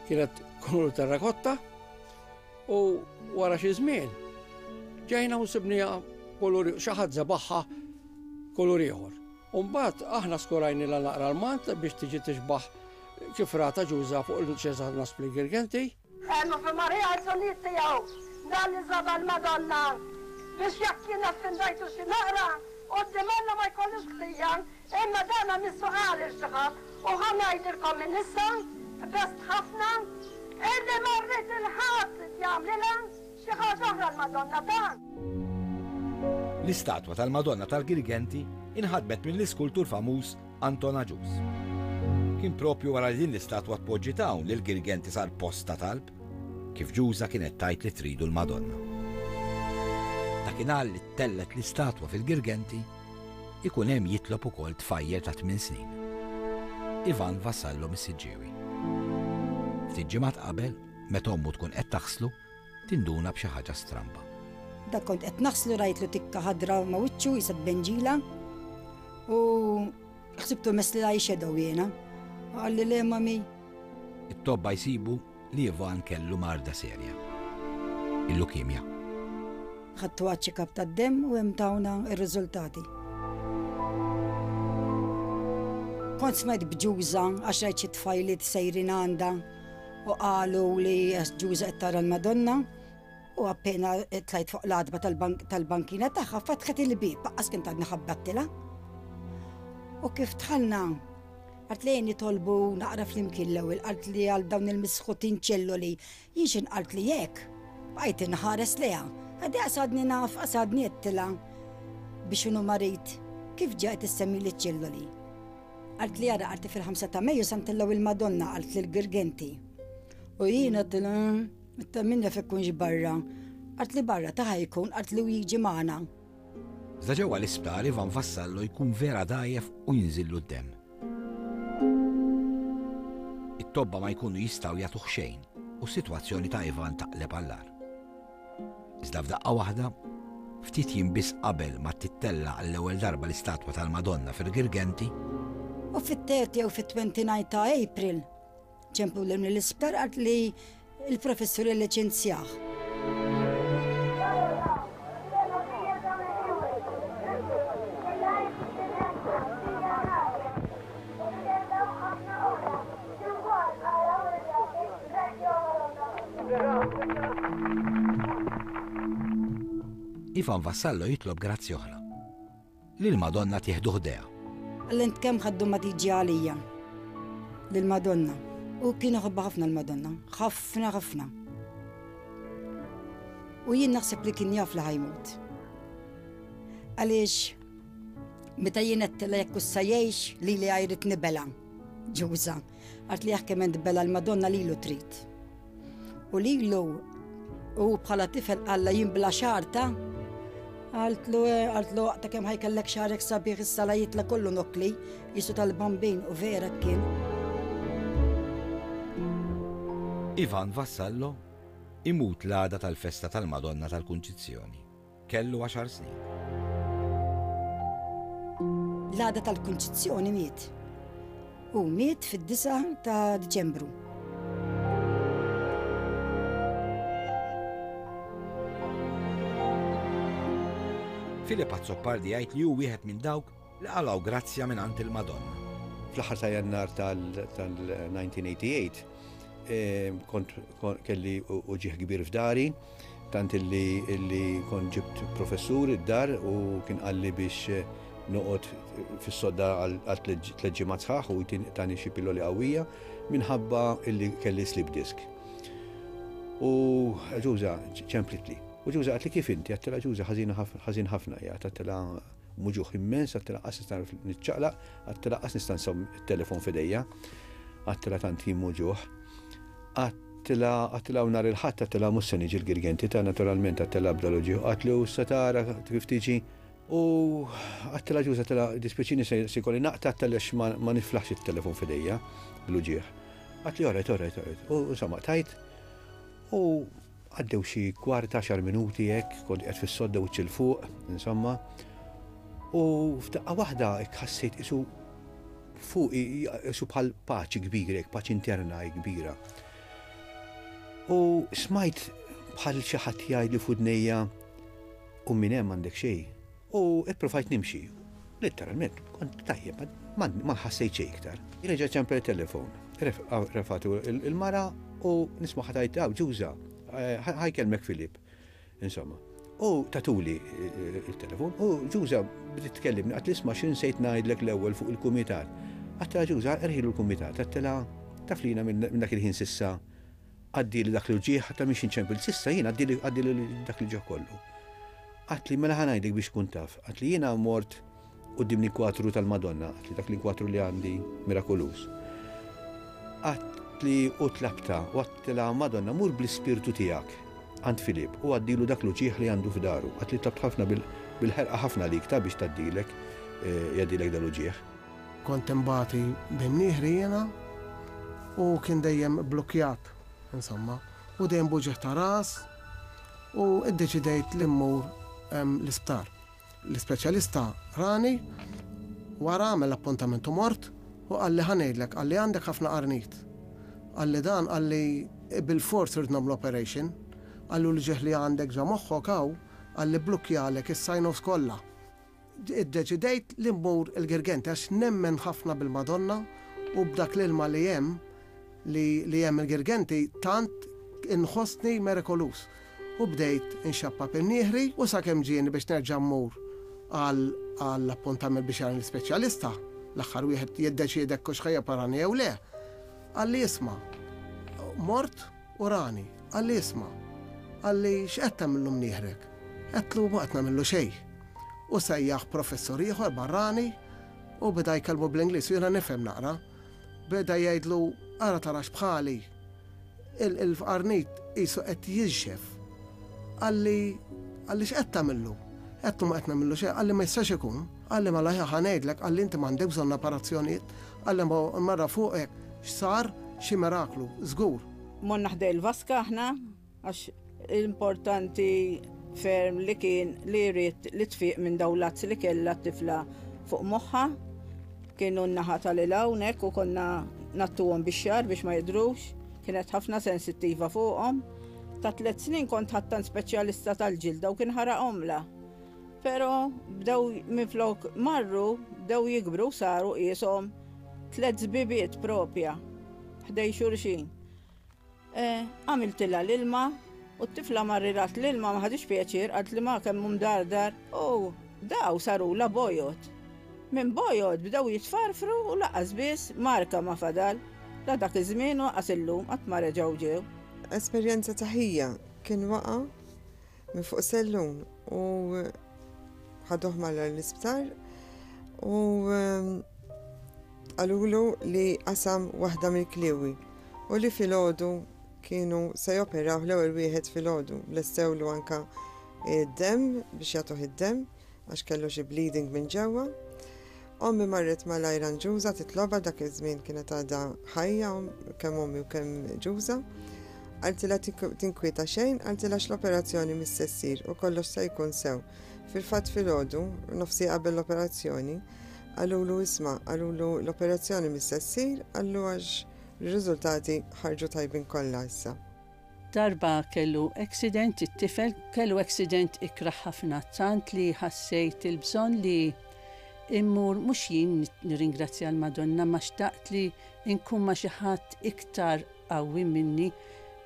kienet kulur terrakotta u wara xi żmien ġejna u sibniha kulur xi ħadd żebaħha kulur ieħor. U mbagħad aħna skurajnilha naqra l-mant biex tiġi tixbaħ. Kif ratha Ġuża fuq il-Ċesar Naspli Girgenti. Għenu fi Marija l-bżonnijiet tiegħu, dan li żaba l-Madonna, biex jekk jien offendajtu xi naqra, quddiem Alla ma jkollix ħtija, imma dan missu qal lil xi ħadd, u ħa ngħidilkom minn issa, qbest ħafna, illi ma rrid 'il ħadd jagħmlilha xi ħaġa oħra l-Madonna ta'. L-istatwa tal-Madonna tal-Girgenti inħadmet mill-iskultur famuż Anton Agius. Kien propju wara li din l-istatwa tpoġġiet hawn li l-Girgenti sar post ta' talb, kif Ġuża kienet tgħid li tridu l-Madonna. Dakinhar li ttellgħet l-istatwa fil-Girgenti, ikun hemm jitlob ukoll tfajjel ta' tminn snin. Ivan Vassallo mis-Siġġiewi. Ftit ġimgħat qabel, meta ommu tkun qed taħslu, tinduna b'xi ħaġa stramba. Dak kont qed naħslu rajtlu tikka ħadra ma' wiċċu qisha tbenġila u ħsibtu messli l-eye shadow jiena. Qalli le mami. It-tobba jsibu li Ivan kellu marda serja. Il-lukimja. Ħadtu għaċ-check-up tad-demm u hemm tawna r-riżultati. Kont smajt b'Ġuża għax rajt xi tfajliet sejrin għandha U qalu li Ġuża qed tara l-Madonna u appena tlajt fuq l-għatba tal-bankina tagħha fetħet il-bieb, aqqas kien għadni ħabbattilha. U kif dħalna, qalt li nitolbu naqra flimkien l-ewwel, qalt li għal dawn il-misħutin ċelloli, jien x'in qalt li hekk. Bqajt inħares lejha. Għadi qasadni naf, qasadni għedtilha biex inhu marid, kif ġa qed issemmili ċ-ċelloli. Qaltli ara qaltli fil-ħamsa ta' Mejju sa ntellgħu il-Madonna qaltli l-Girgenti. U jien għedtilha ta' min jaf ikunx barra. Qaltli barra ta' ħa jkun qaltli u jiġi magħna. Iżda ġewwa l-isptar Ivan Vassallo jkun vera dgħajjef u jinżillu d-demm. It-tobba ma jkunu jistgħu jagħtuh xejn u s-sitwazzjoni ta' Ivan taqleb għall-agħar. Iżda f'daqqa waħda, ftit jiem biss qabel ma tittella' għall-ewwel darba l-istatwa tal-Madonna fil-Girgenti, U fit-30 jew fit-29 ta' April, ċemplu mill-isptar qalt li l-professur illiċenzjah. Ivan Vassallo jitlob grazzja oħra. Li l-Madonna tieħdu ħdejha. Alla int kemm ħaddu ma tiġi għalija. Lill-Madonna. U kien iħobbha ħafna l-Madonna. Ħafna ħafna. U jien naħseb li kien jaf li ħajmut. Għaliex meta jien għedtilha jekk issa jgħix lili għajrit nibela. Ġuża. Għart li jaħkem ent bela l-Madonna lilu trid. U lilu u bħala tifel qalla jien bla xarta. Qaltlu eh, qaltlu waqta kemm ħajkellek xarek sabiħ issa la jitla kollu nokli jisu tal-bambin u vera kien. Ivan Vassallo imut l-għada tal-festa tal-Madonna tal-Kunċizzjoni. Kellu għaxar snin. L-għada tal-Kunċizzjoni miet. Hu miet fid-9 ta' Diċembru. Philip Azzopardi jgħid li hu wieħed minn dawk li qalgħu grazzja mingħand il-Madonna. Fl-aħħar ta' Jannar tal-1988 kont kelli uġigħ kbir f'dari, tant illi illi kont ġibt professur id-dar u kien qalli biex noqgħod fis-sodda għal tliet ġimgħat sħaħ u tani xi pilloli qawwija minħabba illi kelli slip disc. U Ġuża ċemplitli. U Ġuża qaltli kif inti? Għedtilha Ġuża ħażin ħafna qiegħed, għedtilha muġugħ immens, għedtilha qas nista' niċċaqlaq, għedtilha qas nista' nsomm it-telefon f'idejja, għedtilha tant jien muġugħ. Għedtilha, għedtilha u nhar il-Ħadd għedtilha mhux se niġi l-Girgenti ta' naturalment għedtilha bda l-uġigħ. Qaltli u issa tara kif tiġi. U għedtilha ġuż għedtilha dispjaċini se jkolli naqta' għedtilha għax ma niflaħx it-telefon f'idejja bl-uġigħ. Qaltli all right, all right, all right. U insomma qtajt u Għaddew xi kwart għaxar minuti hekk, kont qiegħed fis-sodda wiċċ 'il fuq, insomma. U f'daqqa waħda hekk ħassejt qisu fuqi qisu bħal paċi kbira hekk, paċi interna hekk kbira. U smajt bħal xi ħadd jgħidli f'widnejja u minn hemm għandek xejn. U ippruvajt nimxi. Litteralment, kont tajjeb, ma ħassejt xejn iktar. Reġa' ċempel it-telefon, refatu il-mara u nisma' ħatajt, aw ġuża, eh, ħajkelmek Filip. Insomma. U tatuli eh, il-telefon u ġuża bdiet tkellimni qatt isma' xi nsejt ngħidlek l-ewwel fuq il-kumitat. Għattela ġuża erħilu l-kumitat, għattela taf li jiena minn dak il-ħin sissa għaddili dak l-ġieħ ta' miex inċempil sissa jiena għaddili dak l-ġieħ kollu. Għatli mela ħa ngħidlek biex tkun taf. Għatli jiena mort quddiem l-inkwatru tal-Madonna, għatli dak l-inkwatru li għandi mirakoluż. Għatli u tlabta u għattilha Madonna mur bl-ispirtu tiegħek għand Filip u għaddilu dak l-uġigħ li għandu f'daru. Għatli tlabt ħafna bil-ħerqa ħafna għalik ta' biex tgħaddilek eh, jgħaddilek dal-uġigħ. Kont inbati b'imnieħri jiena u kien dejjem blukkjat, insomma, u dejjem b'uġigħ ta' ras u ddeċidejt li mmur l-isptar. L-ispeċjalista rani, wara għamel appuntament u mort u qalli ħa ngħidlek, qalli għandek ħafna qarnit. Qalli dan qalli bilfors irrid nagħmlu operation. Qalli u l-ġieħ li għandek ġo moħħok hawn qalli bblukkjalek is-sinus kollha. Iddeċidejt li mmur il-Girgenti għax nemmen ħafna bil-Madonna u b'dak l-ilma li hemm li li hemm il-Girgenti tant inħossni merikoluż. U bdejt inxappap imnieħri u sakemm ġieni biex nerġa' mmur għal għall-appuntament biex jarani l-ispeċjalista, l-aħħar wieħed jiddeċiedi hekk hux ħa joperani jew le, qalli isma' mort u rani, qalli isma', qalli x'qed tagħmillu mnieħrek? Għedtlu ma qed nagħmillu xejn. U sejjaħ professur ieħor barrani u beda jkellmu bl-Ingliż u jiena nifhem naqra. Beda jgħidlu ara tarax bħali, il-qarnit qisu qed jinxef. Qalli, qalli x'qed tagħmillu? Għedtlu ma qed nagħmillu xejn, qalli ma jistax ikun. Qalli mela ħa ngħidlek, qalli inti m'għandek bżonn operazzjonijiet, qalli marra fuqek x'sar xi miraklu, żgur. Morna ħdejn il-vaska aħna Għax importanti ferm li kien li ried li tfiq minn dawn l-azz li kellha t-tifla fuq moħħha. Kienu n-naħa tal-il hawnhekk u konna nattuhom bix-xagħar biex ma jidhrux. Kienet ħafna sensittiva fuqhom. Ta' tliet snin kont ħadt għand speċjalista tal-ġilda u kien ħaraqhomlha. Però bdew minflok marru bdew jikbru u saru qieshom tliet żbibiet propja ħdejn xulxin. Għamiltilha l-ilma u t-tifla marri rat l-ilma ma ħaditx pjaċir qaltli ma kemm hu mdardar u daw sarulha bojod. Minn bojod bdew jitfarfru u lanqas biss marka ma fadal. La dak iż-żmien u lanqas illum qatt ma reġgħu ġew. Esperjenza ta' ħija kien waqa' minn fuq sellum u ħaduh malajr l-isptar u Qalulu li qasam waħda mill-kliewi u li filgħodu kienu se joperawh l-ewwel wieħed filgħodu. Lestewlu anka d-demm biex jagħtuh id-demm għax kellu xi bleeding minn ġewwa. Ommi marret malajr għand Ġuża titlobha dak iż-żmien kienet għadha ħajja kemm ommi u kemm Ġuża. Qaltilha tinkwieta xejn, qaltilha x'l-operazzjoni mhix se ssir u kollox se jkun sew. Fil-fatt filgħodu, nofs siegħa qabel l-operazzjoni, Qalulu isma', qalulu l-operazzjoni mhix se ssir, qallu għax r-riżultati ħarġu tajbin kollha issa. Darba kellu accident it-tifel, kellu accident ikrah ħafna tant li ħassejt il-bżonn li immur mhux jien nirringrazzja l-Madonna ma xtaqt li nkun ma' xi ħadd iktar qawwi minni.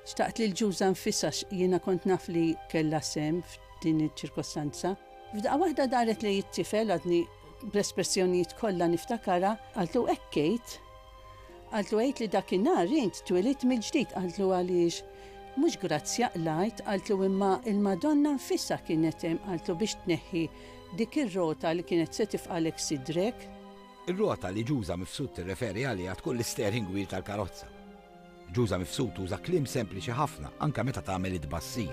Xtaqt li l-ġuża nfisha jiena kont naf li kellha sehem f'din iċ-ċirkostanza. F'daqqa waħda daret lejn it-tifel, għadni bl-espressjonijiet kollha niftakarha, qaltlu hekk għid. Qaltlu għid li dakinhar int twilidt mill-ġdid, qaltlu għaliex mhux grazzja qlajt, qaltlu imma il-Madonna nfisha kienet hemm, qaltlu biex tneħħi dik ir-rota li kienet se tifqalek sidrek. Ir-rota li Ġuża Mifsud tirreferi għaliha tkun l-isteering wheel tal-karozza. Ġuża Mifsud tuża kliem sempliċi ħafna anke meta tagħmel it-tbassir.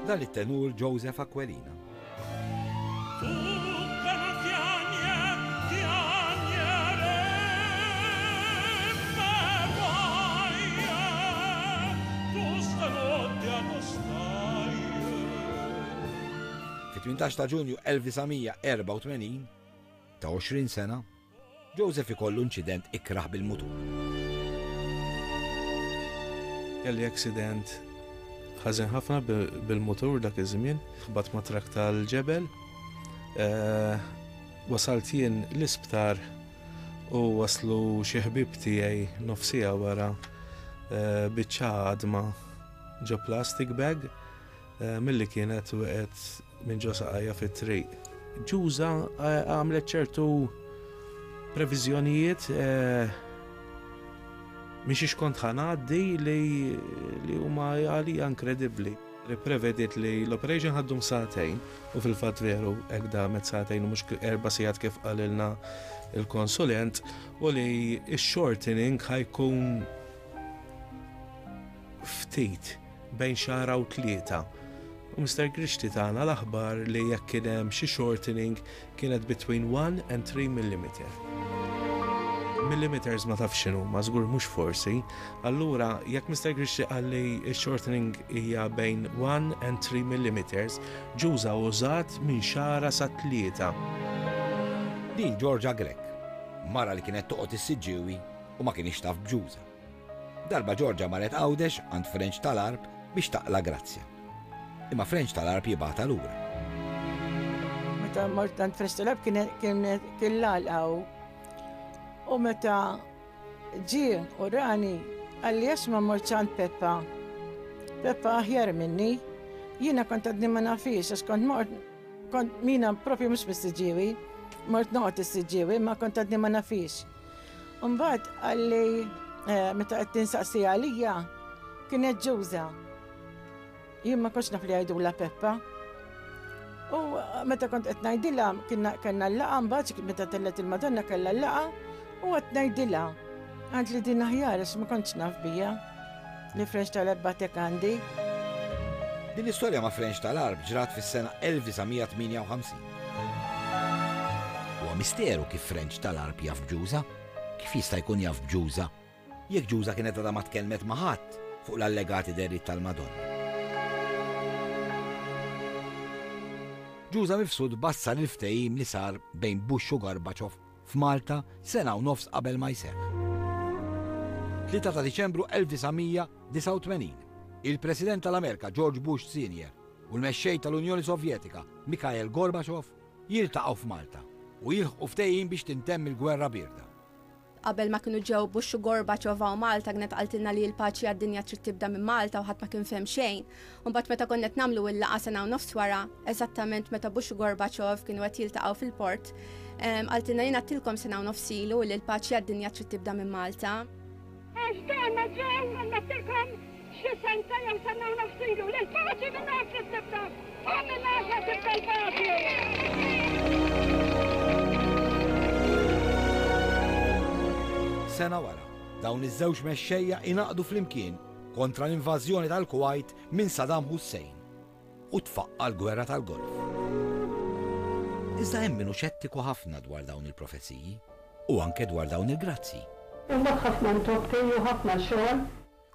Dan it-tenur Joseph Aquilina. Fit-18 ta' Ġunju 1984, ta' 20 sena, Joseph ikollu inċident ikrah bil-mutur. Kelli accident ħażin ħafna bil-mutur dak iż-żmien, ħbatt ma' trakk tal-ġebel. Wasalt jien l-isptar u waslu xi ħbieb tiegħi nofs siegħa wara biċċa għadma ġo plastic bag milli kienet waqgħet minn ġo saqajja fit-triq. Ġuża għamlet ċertu previżjonijiet minn xiex kont ħa ngħaddi li huma għalija inkredibbli. Ipprevediet li l-operation ħa ddum sagħtejn u fil-fatt veru hekk damet sagħtejn u mhux erba' sigħat kif qalilna l-konsulent u li x-shortening ħa jkun ftit bejn xahar u tlieta. U Mister Grixti tana l-aħbar li jekk kien hemm xi shortening kienet between 1 and 3 millimeter. Millimeters ma tafx x'inhuma, żgur mhux forsi. Allura jekk Mister Grixti qal li x-shortening hija bejn 1 and 3 millimeters, ġuża użat minn xahra sa tlieta. Din Georgia Grech, mara li kienet toqgħod is-Siġġiewi u ma kinitx taf b'Ġuża. Darba Georgia marret Għawdex għand Frenċ tal-Għarb biex taqla' grazzja. Imma Frenċ tal-Għarb jibgħatha lura. Meta mort għand Frenċ tal-Għarb kien kien kien l-għalqa hu. U meta ġie u rani qalli għax ma mortx għand Peppa. Peppa aħjar minni. Jiena kont għadni ma nafhiex għax kont mort kont mina propju mhux mis-Siġġiewi. Mort noqgħod is-Siġġiewi imma kont għadni ma nafhiex. Mbagħad qalli eh, meta qed tinsaqsi għalija kienet ġuża. Jien ma kontx naf li jgħidula Peppa. U eh, meta kont qed ngħidilha kellna l-laqgħa mbagħad meta tellet il-Madonna kellha l-laqgħa u qed ngħidilha. Għand li din aħjar għax ma kontx naf bija li French tal-ebbatek għandi. Din l-istorja ma' French tal-Għarb ġrat fis-sena 1958. Huwa misteru kif French tal-Għarb jaf b'Ġuża. Kif jista' jkun jaf b'Ġuża jekk Ġuża kienet għadha ma tkellmet ma' ħadd fuq l-allegati dehriet tal-Madonna? Ġuża Mifsud bassar il-ftehim li sar bejn Bush u Gorbachev f'Malta sena u nofs qabel ma jseħħ. 3 ta' Diċembru 1989, il-President tal-Amerika George Bush Senior u l-Mexxej tal-Unjoni Sovjetika Mikhail Gorbachev jiltaqgħu f'Malta u jilħqu ftehim biex tintemm il-Gwerra Bierda. Qabel ma kienu ġew Bush u Gorbachev hawn Malta kienet qaltilna li l-paċi għad-dinja trid tibda minn Malta u ħadd ma kien fehem xejn. U mbagħad meta konna qed nagħmlu l-laqgħa sena u nofs wara, eżattament meta Bush u Gorbachev kienu qed jiltaqgħu fil-port, qaltilna jien għedtilkom sena u nofs ilu li l-paċi għad-dinja trid tibda minn Malta. Għax dan ma ġew għedtilkom xi sena jew sena u nofs ilu li l-paċi minn hawn trid tibda u minn hawn se tibda l-paċi. Sena wara, dawn iż-żewġ mexxejja ingħaqdu flimkien kontra l-invażjoni tal-Kuwajt minn Saddam Hussein u tfaqqa' l-Gwerra tal-Golf. Iżda hemm min hu xettiku ħafna dwar dawn il-profeziji u anke dwar dawn il-grazzji. Imbagħad ħafna ntoppi u ħafna xogħol.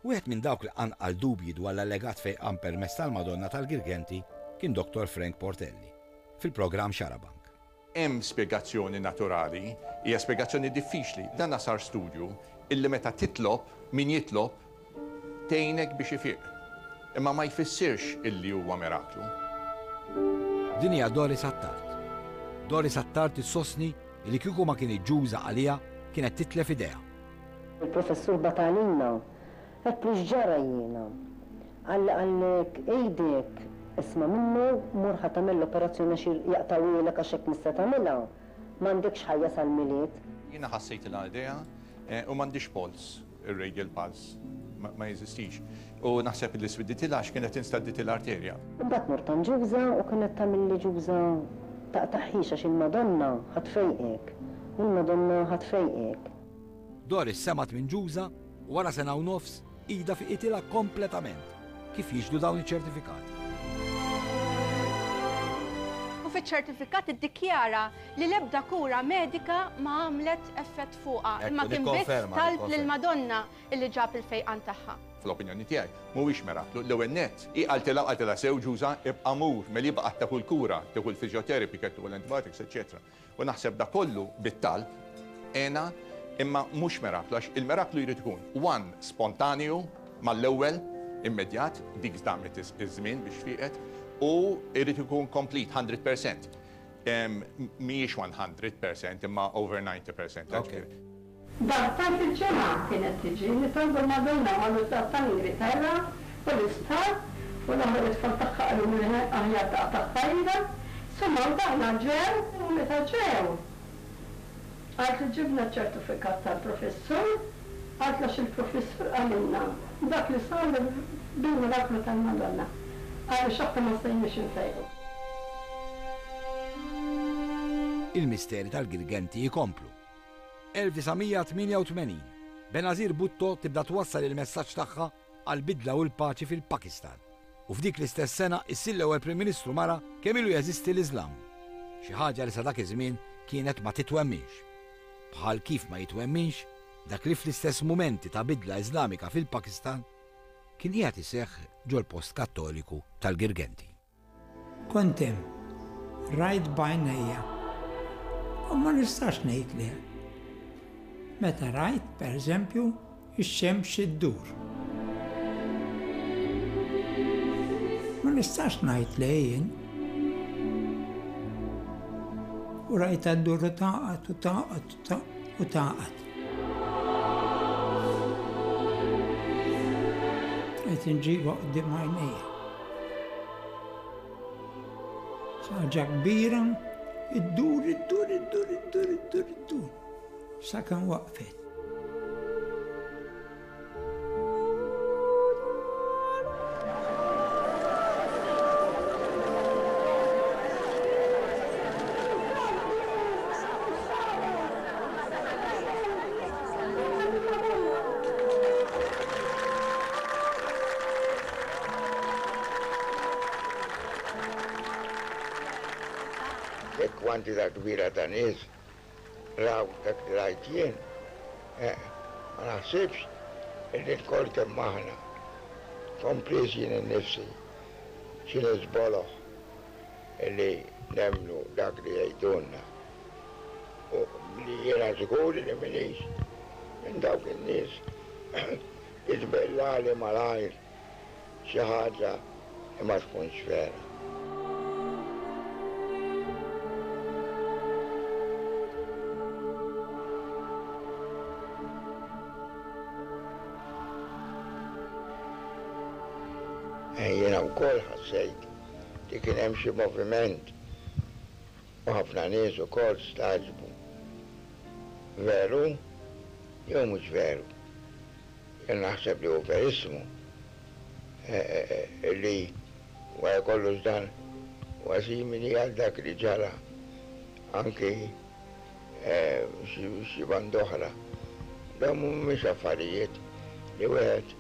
Wieħed minn dawk li qanqal dubji dwar l-allegat fejqan permezz tal-Madonna tal-Girgenti kien Dottor Frank Portelli, fil-programm Xarabank. Hemm spjegazzjoni naturali, hija spjegazzjoni diffiċli. Dan sar studju illi meta titlob, min jitlob, tgħinek biex ifiq. Imma ma jfissirx illi huwa miraklu. Din hija Doris Attard. Doris Attard issostni li kieku ma kinitx ġuża għaliha kienet titlef idejha. Il-Professur bagħat għalina. Għedtlu x'ġara jiena. Qalli qallek għidek, isma' minnu, mur ħa tagħmel l-operazzjoni għax jaqtgħuhielek għax hekk mhux se tagħmilha, m'għandekx ħajja sal-Milied. Jiena ħassejtilha idejha u m'għandhiex polz, ir-radial pulse ma jeżistix. U naħseb li swidditilha għax kienet instadditilha arterja. Imbagħad mort għand Ġuża u kienet tagħmilli Ġuża taqtagħhiex għax il-Madonna ħa tfejqek, il-Madonna ħa tfejqek. Doris semgħet minn Ġuża u wara sena u nofs idha fiqitilha kompletament, kif jixhdu dawn iċ-ċertifikati. U fiċ-ċertifikat iddikjara li l-ebda kura medika ma għamlet effett fuqha, imma kien biss talb lill-Madonna illi ġab il-fejqan tagħha. Fl-opinjoni tiegħi, mhuwiex miraklu. L-ewwel nett, hi qaltilha u qaltilha sew Ġuża, ibqa' mur, meli baqgħet tieħu l-kura, tieħu l-physiotherapy, kienet tieħu l-antibiotics, eċċetera. U naħseb dak kollu bit-talb għenha imma mhux miraklu għax il-miraklu jrid ikun one spontanju mal-ewwel immedjat, dik damet iż-żmien biex fieqet, u jrid ikun complete 100%. Mhijiex 100% imma over 90%. Darbtejn fil-ġimgħa kienet tiġi nitolbu l-Madonna marru d-dar tal-Ingilterra u l-isptar u l-oħra lit-tfal tagħha qalulu li aħjar taqta' tfajla. Insomma u dawna ġew u meta ġew qaltli ġibna ċ-ċertifikat tal-professur qaltli għax il-professur qalilna dak li sar bil-miraklu tal-Madonna għaliex aħna ma stajniex infejqu. Il-misteri tal-Girgenti jkomplu. 1988, Benazir Bhutto tibda twassal il-messaġġ tagħha għall-bidla u l-paċi fil-Pakistan. U f'dik l-istess sena issir l-ewwel Prim Ministru mara kemm ilu jeżisti l-Iżlam. Xi ħaġa li sa dak iż-żmien kienet ma titwemminx. Bħal kif ma jitwemminx dak li fl-istess mumenti ta' bidla Iżlamika fil-Pakistan kien qiegħed iseħħ ġol-post Kattoliku tal-Girgenti. Kont hemm, rajt b'għajnejja. U ma nistax ngħid le. Meta rajt, per eżempju, ix-xemx iddur. Ma nistax ngħid le jien. U rajtha ddur u tagħqad u tagħqad u tagħqad. Qed inġibha quddiem għajnejja. Ħaġa kbira, iddur, iddur, iddur, iddur, iddur, iddur. Sakemm waqfet. Jekk kwantità kbira ta' nies raw dak li rajt jien, ma naħsibx illi lkoll kemm aħna, kompriż jien innifsi, xi nies boloh illi nemmnu dak li jgħidulna. U li jiena żgur li m'iniex minn dawk in-nies li tbellagħli malajr xi ħaġa li ma tkunx vera. Jiena wkoll ħassejt li kien hemm xi moviment u ħafna nies ukoll stagħġbu. Veru jew mhux veru? Jien naħseb li hu verissimu li wara kollox dan huwa simili għal dak li ġara anki xi band'oħra. Dawn mhumiex affarijiet li wieħed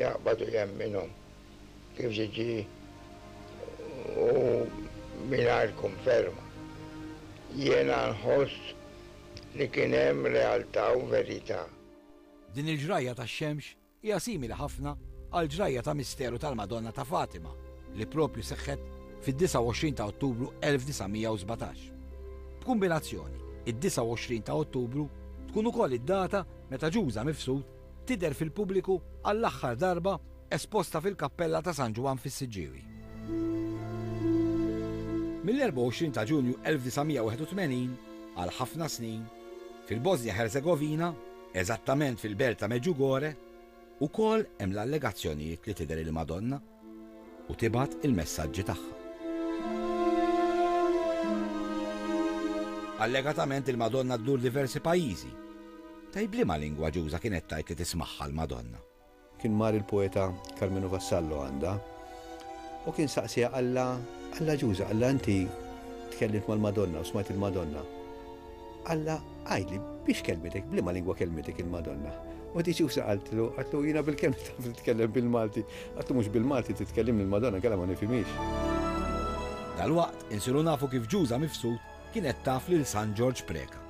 jaqbad u jemminhom kif tiġi u mingħajr konferma. Jiena nħoss li kien hemm realtà u verità. Din il-ġrajja tax-xemx hija simili ħafna għall-ġrajja ta' misteru tal-Madonna ta' Fatima li proprju seħħet fid-29 ta' Ottubru 1917. B'kumbinazzjoni, id-29 ta' Ottubru tkun ukoll id-data meta Ġuża Mifsud tidher fil-pubbliku għall-aħħar darba esposta fil-Kappella ta' San Ġwann fis-Siġġiewi. Mill-24 ta' Ġunju 1981, għal ħafna snin, fil-Bosnja-Ħerzegovina, eżattament fil-belt ta' Medjugorje, ukoll hemm l-allegazzjonijiet li tidher il-Madonna u tibgħat il-messaġġi tagħha. Allegatament il-Madonna ddur diversi pajjiżi. Tgħid b'liema lingwa Ġuża kienet tgħid li tismagħha l-Madonna? Kien mar il-poeta Karmenu Vassallo għandha u kien saqsiha qallha, qallha Ġuża, qallha inti tkellimt mal-Madonna u smajt il-Madonna. Qallha, għidli, biex kellmitek, b'liema lingwa kellmitek il-Madonna? U di Ġuża qaltlu, qaltlu jiena bilkemm taf titkellem bil-Malti. Qaltlu mhux bil-Malti titkellimni l-Madonna inkella ma nifhimhiex. Dalwaqt insiru nafu kif Ġuża Mifsud kienet taf lil San Ġorġ Preca.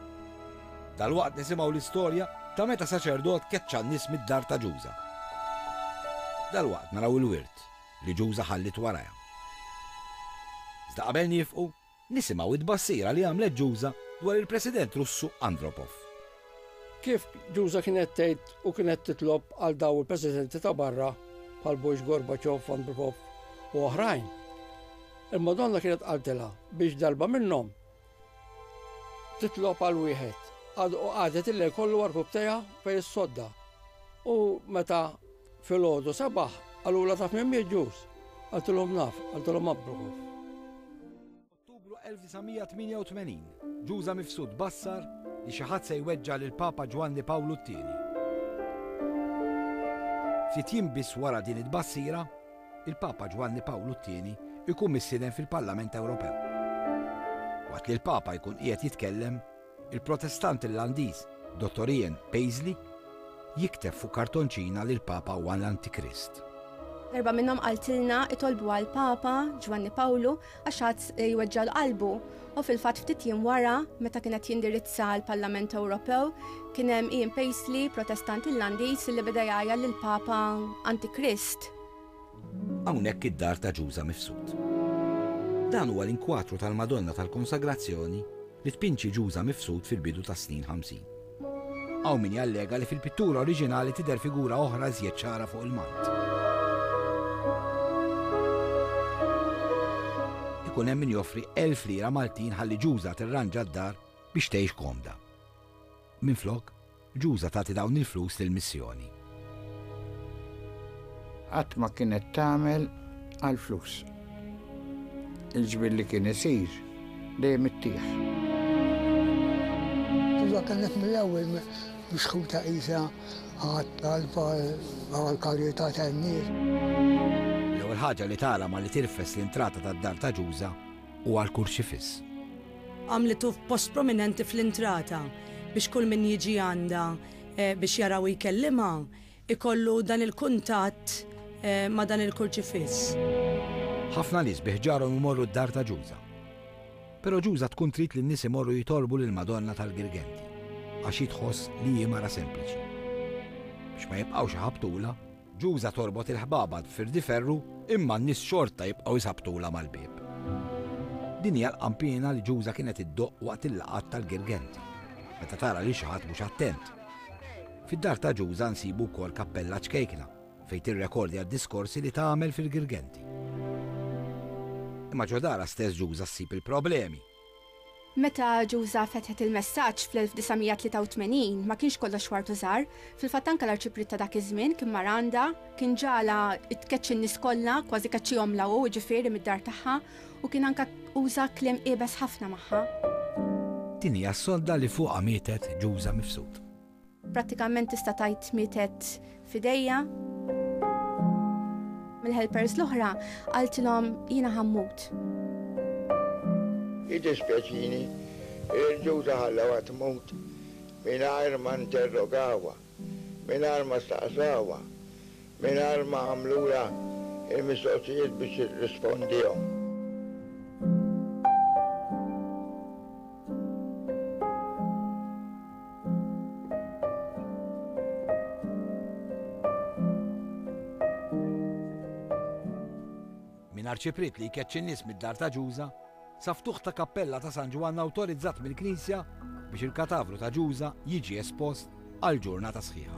Dalwaqt nisimgħu l-istorja ta' meta saċerdot keċċa n-nies mid-dar ta' Ġuża. Dalwaqt naraw il-wirt li Ġuża ħalliet warajha. Iżda qabel niefqu, nisimgħu t-tbassira li għamlet Ġuża dwar il-President Russu Andropov. Kif Ġuża kienet tgħid u kienet titlob għal daw il-presidenti ta' barra bħal Bush, Gorbachev, Andropov u oħrajn. Il-Madonna kienet qaltilha biex darba minnhom titlob għal wieħed. U qagħdet il-lejl kollu għarkupptejha fejn is-sodda. U meta filgħodu sabaħ, qalulha taf min miet Ġuż? Qaltilhom naf, qaltilhom Abrukov. Ottubru 1988, Ġuża Mifsud bassar li xi ħadd se jweġġa' lill-Papa Ġwanni Pawlu t-Tieni. Ftit jiem biss wara din it-tbassira, il-Papa Ġwanni Pawlu t-Tieni jkun mistieden fil-Parlament Ewropew. Waqt li l-Papa jkun qiegħed jitkellem, il-Protestant Irlandiż Dottor Ian Paisley jikteb fuq kartonċina li l-Papa huwa l-Antikrist. Darba minnhom qaltilna itolbu għall-Papa Ġwanni Pawlu għax għad jweġġgħalu qalbu u fil-fatt ftit jiem wara meta kien qed jindirizza l-Parlament Ewropew kien hemm Ian Paisley, Protestant Irlandiż li beda jgħajjar lill-Papa Antikrist. Hawnhekk id-dar ta' Ġuża Mifsud. Dan huwa l-inkwatru tal-Madonna tal-Konsagrazzjoni li tpinġi Ġuża Mifsud fil-bidu tas-snin 50. Hawn min jallega li fil-pittura oriġinali tidher figura oħra iżjed ċara fuq il-mant. Ikun hemm min joffri 1000 lira Maltin ħalli Ġuża tirranġa d-dar biex tgħix komda. Minflok, Ġuża tagħti dawn il-flus lill-missjoni. Qatt ma kienet tagħmel għall-flus. Il-ġbir li kien isir dejjem ittih. Ġuża kienet mill-ewwel mixħuta qisha għat-talb għall-karità tan-nies. L-ewwel ħaġa li tara malli tirfes l-intrata tad-dar ta' Ġuża huwa l-kurċifiss. Għamlitu f'post prominenti fl-intrata biex kull min jiġi għandha biex jara u jkellimha ikollu dan il-kuntatt ma' dan il-kurċifiss. Ħafna nies bi ħġarhom imorru d-dar ta' Ġuża. Però Ġuża tkun trid li n-nies imorru jitolbu lill-Madonna tal-Girgenti għax hi tħoss li hi mara sempliċi. Biex ma jibqgħux iħabbtulha, Ġuża torbot il-ħbaba b'firdiferru imma n-nies xorta jibqgħu jsabbtulha mal-bieb. Din hija l-qanpiena li Ġuża kienet iddoqq waqt il-laqgħat tal-Girgenti, meta tara lil xi ħadd mhux attent. Fid-dar ta' Ġuża nsibu wkoll kappella ċkejkna fejn tirrekordja d-diskorsi li tagħmel fil-Girgenti. Imma ġo darha stess Ġuża ssib il-problemi. Meta Ġuża fetħet il-messaġġ fl-1983 ma kienx kollox ward u żahar. Fil-fatt anke l-Arċipriet ta' dak iż-żmien kien mar għandha, kien ġagħalha tkeċċi n-nies kollha, kważi keċċihomlha hu, jiġifieri mid-dar tagħha, u kien anke uża kliem iebes ħafna magħha. Din hija s-sodda li fuqha mietet Ġuża Mifsud. Prattikament tista' tgħid mietet f'idejja. Mill-helpers l-oħra qaltilhom jiena ħa mmut. Jiddispjaċini li l-ġuża ħallewha tmut mingħajr ma interrogawha, mingħajr ma staqsawha, mingħajr ma għamlulha l-mistoqsijiet biex tirrispondihom. Minn arċipriet li jkeċċi n-nies mid-dar ta' Ġuża, sa ftuħ ta' kappella ta' San Ġwann awtorizzat mill-Knisja biex il-katavru ta' Ġuża jiġi espost għal ġurnata sħiħa.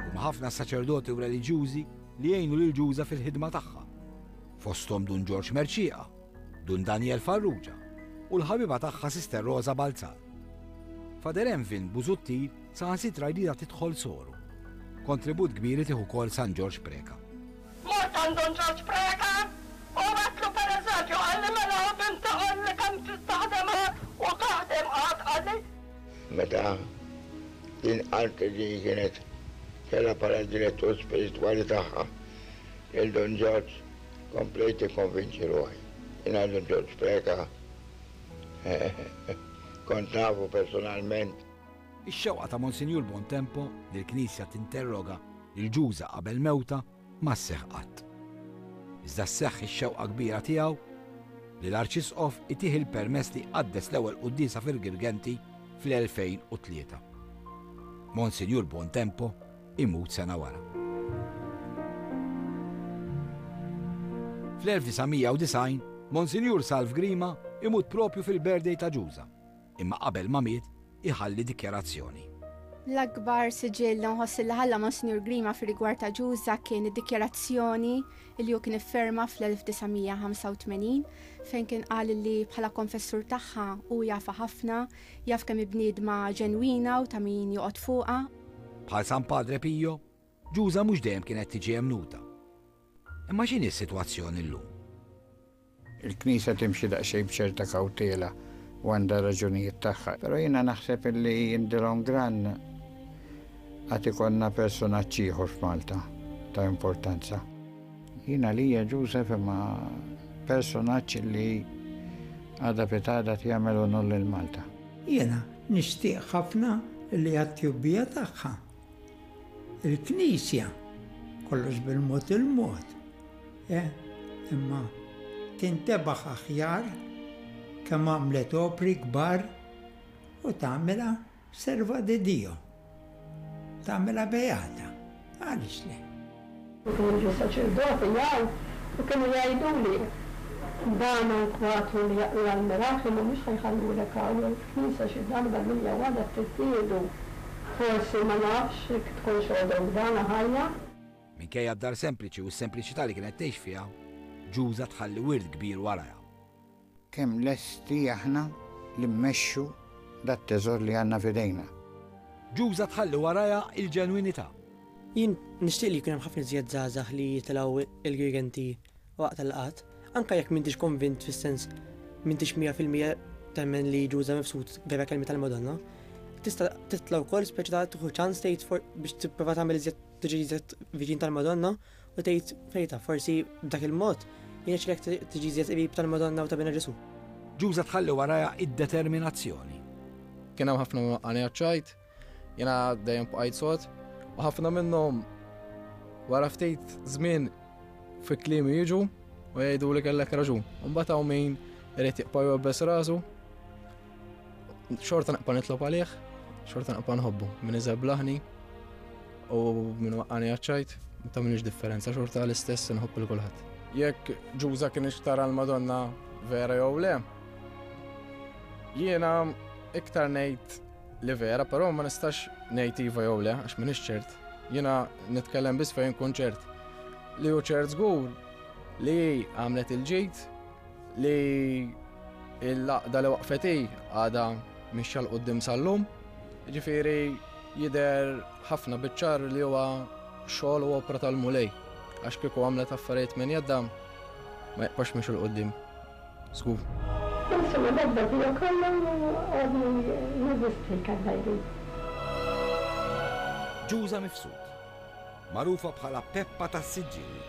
Huma ħafna s-saċerdoti u reliġjużi li jgħinu lil Ġuża fil-ħidma tagħha. Fosthom Dun Ġorġ Mercieqa, Dun Daniel Farrugia u l-ħabiba tagħha Sister Rosa Balzan. Father Envin Busuttil saħansitra jridha tidħol soru. Kontribut kbir itih ukoll San Ġorġ Preca. Mort għand Dun Ġorġ Preca u għedtlu pereżempju, qalli mela binti qalli kemm trid taħdem għad u taħdem għad qalli. Meta din qaltli li kienet kellha bħala direttur spiritwali tagħha lil Dun Ġorġ, Komplejt nikkonvinċi ruħi. Jiena Dun Ġorġ Preca kont nafu personalment. Ix-xewqa ta' Monsinjur Buontempo li l-Knisja tinterroga lil Ġuża qabel mewtha ma sseħħ qatt. Iżda sseħħ ix-xewqa kbira tiegħu li l-Arċisqof itih il-permess li jqaddes l-ewwel quddiesa fir-Girgenti fl-2003. Monsinjur Buontempo imut sena wara. Fl-1990, Monsinjur Salv Grima imut propju fil-birthday ta' Ġuża, imma qabel ma miet iħalli dikjarazzjoni. L-akbar siġill li nħoss li ħalla Monsinjur Grima fir-rigward ta' Ġuża kien id-dikjarazzjoni li hu kien ifferma fl-1985 fejn kien qal li bħala konfessur tagħha hu jafha ħafna, jaf kemm hi bniedma ġenwina u ta' min joqgħod fuqha. Bħal San Padre Pio, Ġuża mhux dejjem kienet tiġi emmnuta. Imma x'inhi s-sitwazzjoni llum? Il-Knisja timxi daqsxejn b'ċerta kawtela u għandha r-raġunijiet tagħha, però jiena naħseb illi in the long run għad ikollna personaġġ ieħor f'Malta ta' importanza. Jien għalija Joseph imma personaġġ illi għada pitgħada qed jagħmel unur lil Malta. Jiena nixtieq ħafna li għat-tjubbija tagħha il-Knisja, kollox bil-mod il-mod, Eh, imma tintebaħ aħjar kemm għamlet opri kbar u tagħmilha serva di Dio. Tagħmilha beata. Għaliex le? U kienu jiġu saċerdoti jgħu u kienu jgħiduli, Dan hawn kwadru li jaqla' l-mirakli mhumiex ħa jħallulek hawn il-knisja xi darba l-lum jew għada trid tieħdu. Forsi ma nafx jekk tkunx għodok dana ħajja. Minkejja d-dar sempliċi u s-sempliċità li kienet tgħix fiha, Ġuża tħalli wirt kbir warajha. Kemm lesti aħna li mmexxu dat-teżor li għandna f'idejna? Ġuża tħalli warajha il-ġenwinità. Jien nixtieq li jkun hemm ħafna iżjed żgħażagħ li jitilgħu il-Girgenti waqt il-laqgħat, anke jekk m'intix konvint fis-sens m'intix 100% temmen li Ġuża Mifsud vera kelmiet tal-Madonna, tista' titla' wkoll speċi ta' tieħu ċans tgħid biex tipprova tagħmel iżjed tiġi iżjed viċin tal-Madonna u tgħid fejta forsi b'dak il-mod jirnexxilek tiġi iżjed qrib tal-Madonna u ta' Binha Ġesù. Ġuża tħalli warajha id-determinazzjoni. Kien hemm ħafna min waqqagħni għaċ-ċajt, jiena dejjem bqajt sod, u ħafna minnhom wara ftit żmien fi kliemi jiġu u jgħidu li kellek raġun. U mbagħad hawn min irid jibqa' jwebbes rasu Xorta naqpa nitlob għalih, xorta naqpa nħobbu. Min iżeblaħni u min waqqani għaċċajt, ma tagħmilx differenza, xorta l-istess nħobb il kulħadd. Jekk Ġuża kien tara l-Madonna vera jew le, jiena iktar ngħid li vera, però ma nistax ngħid iva jew le, għax m'iniex ċert. Jiena nitkellem biss fejn nkun ċert. Li hu ċert żgur li għamlet il-ġid, li l-għaqda li waqfet hi għadha mixja 'l quddiem sal-lum. Jiġifieri jidher ħafna biċ-ċar li huwa xogħol u opra tal-Mulej għax kieku għamlet affarijiet minn jeddha ma jibqax miexi 'l quddiem. Żgur. Insomma dak bagħtija kollu u għadni neżisti kif ngħidu. Ġuża Mifsud. Magħrufa bħala Peppa tas-Siġġiewi.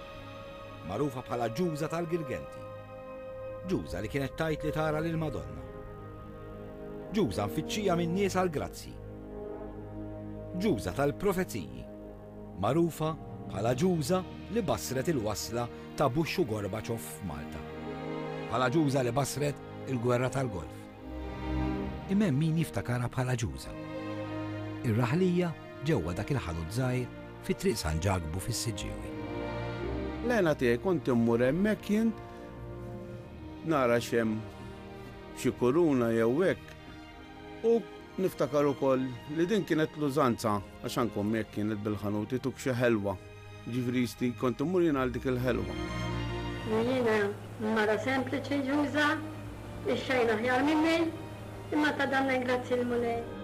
Magħrufa bħala Ġuża tal-Girgenti. Ġuża li kienet tgħid li tara lill-Madonna. Ġuża mfittxija min-nies għall-grazzji. Ġuża tal-profeziji. Magħrufa bħala Ġuża li bassret il-wasla ta' Bush u Gorbachev f'Malta. Bħala Ġuża li bassret il-Gwerra tal-Golf. Imma hemm min jiftakarha bħala Ġuża. Ir-raħlija ġewwa dak il-ħanut żgħir fi Triq San Ġakbu fis-Siġġiewi. L-hena tiegħi kont immur hemmhekk jien nara x'hemm xi kuruna jew hekk u niftakar ukoll li din kienet l-użanza għax anke ommi hekk kienet bil-ħanut ituk xi ħelwa. Jiġifieri jisti kont immur jien għal dik il-ħelwa. Jiena mara sempliċi ġuża, ix-xejn aħjar minni, imma ta' dan grazzi l-Mulej.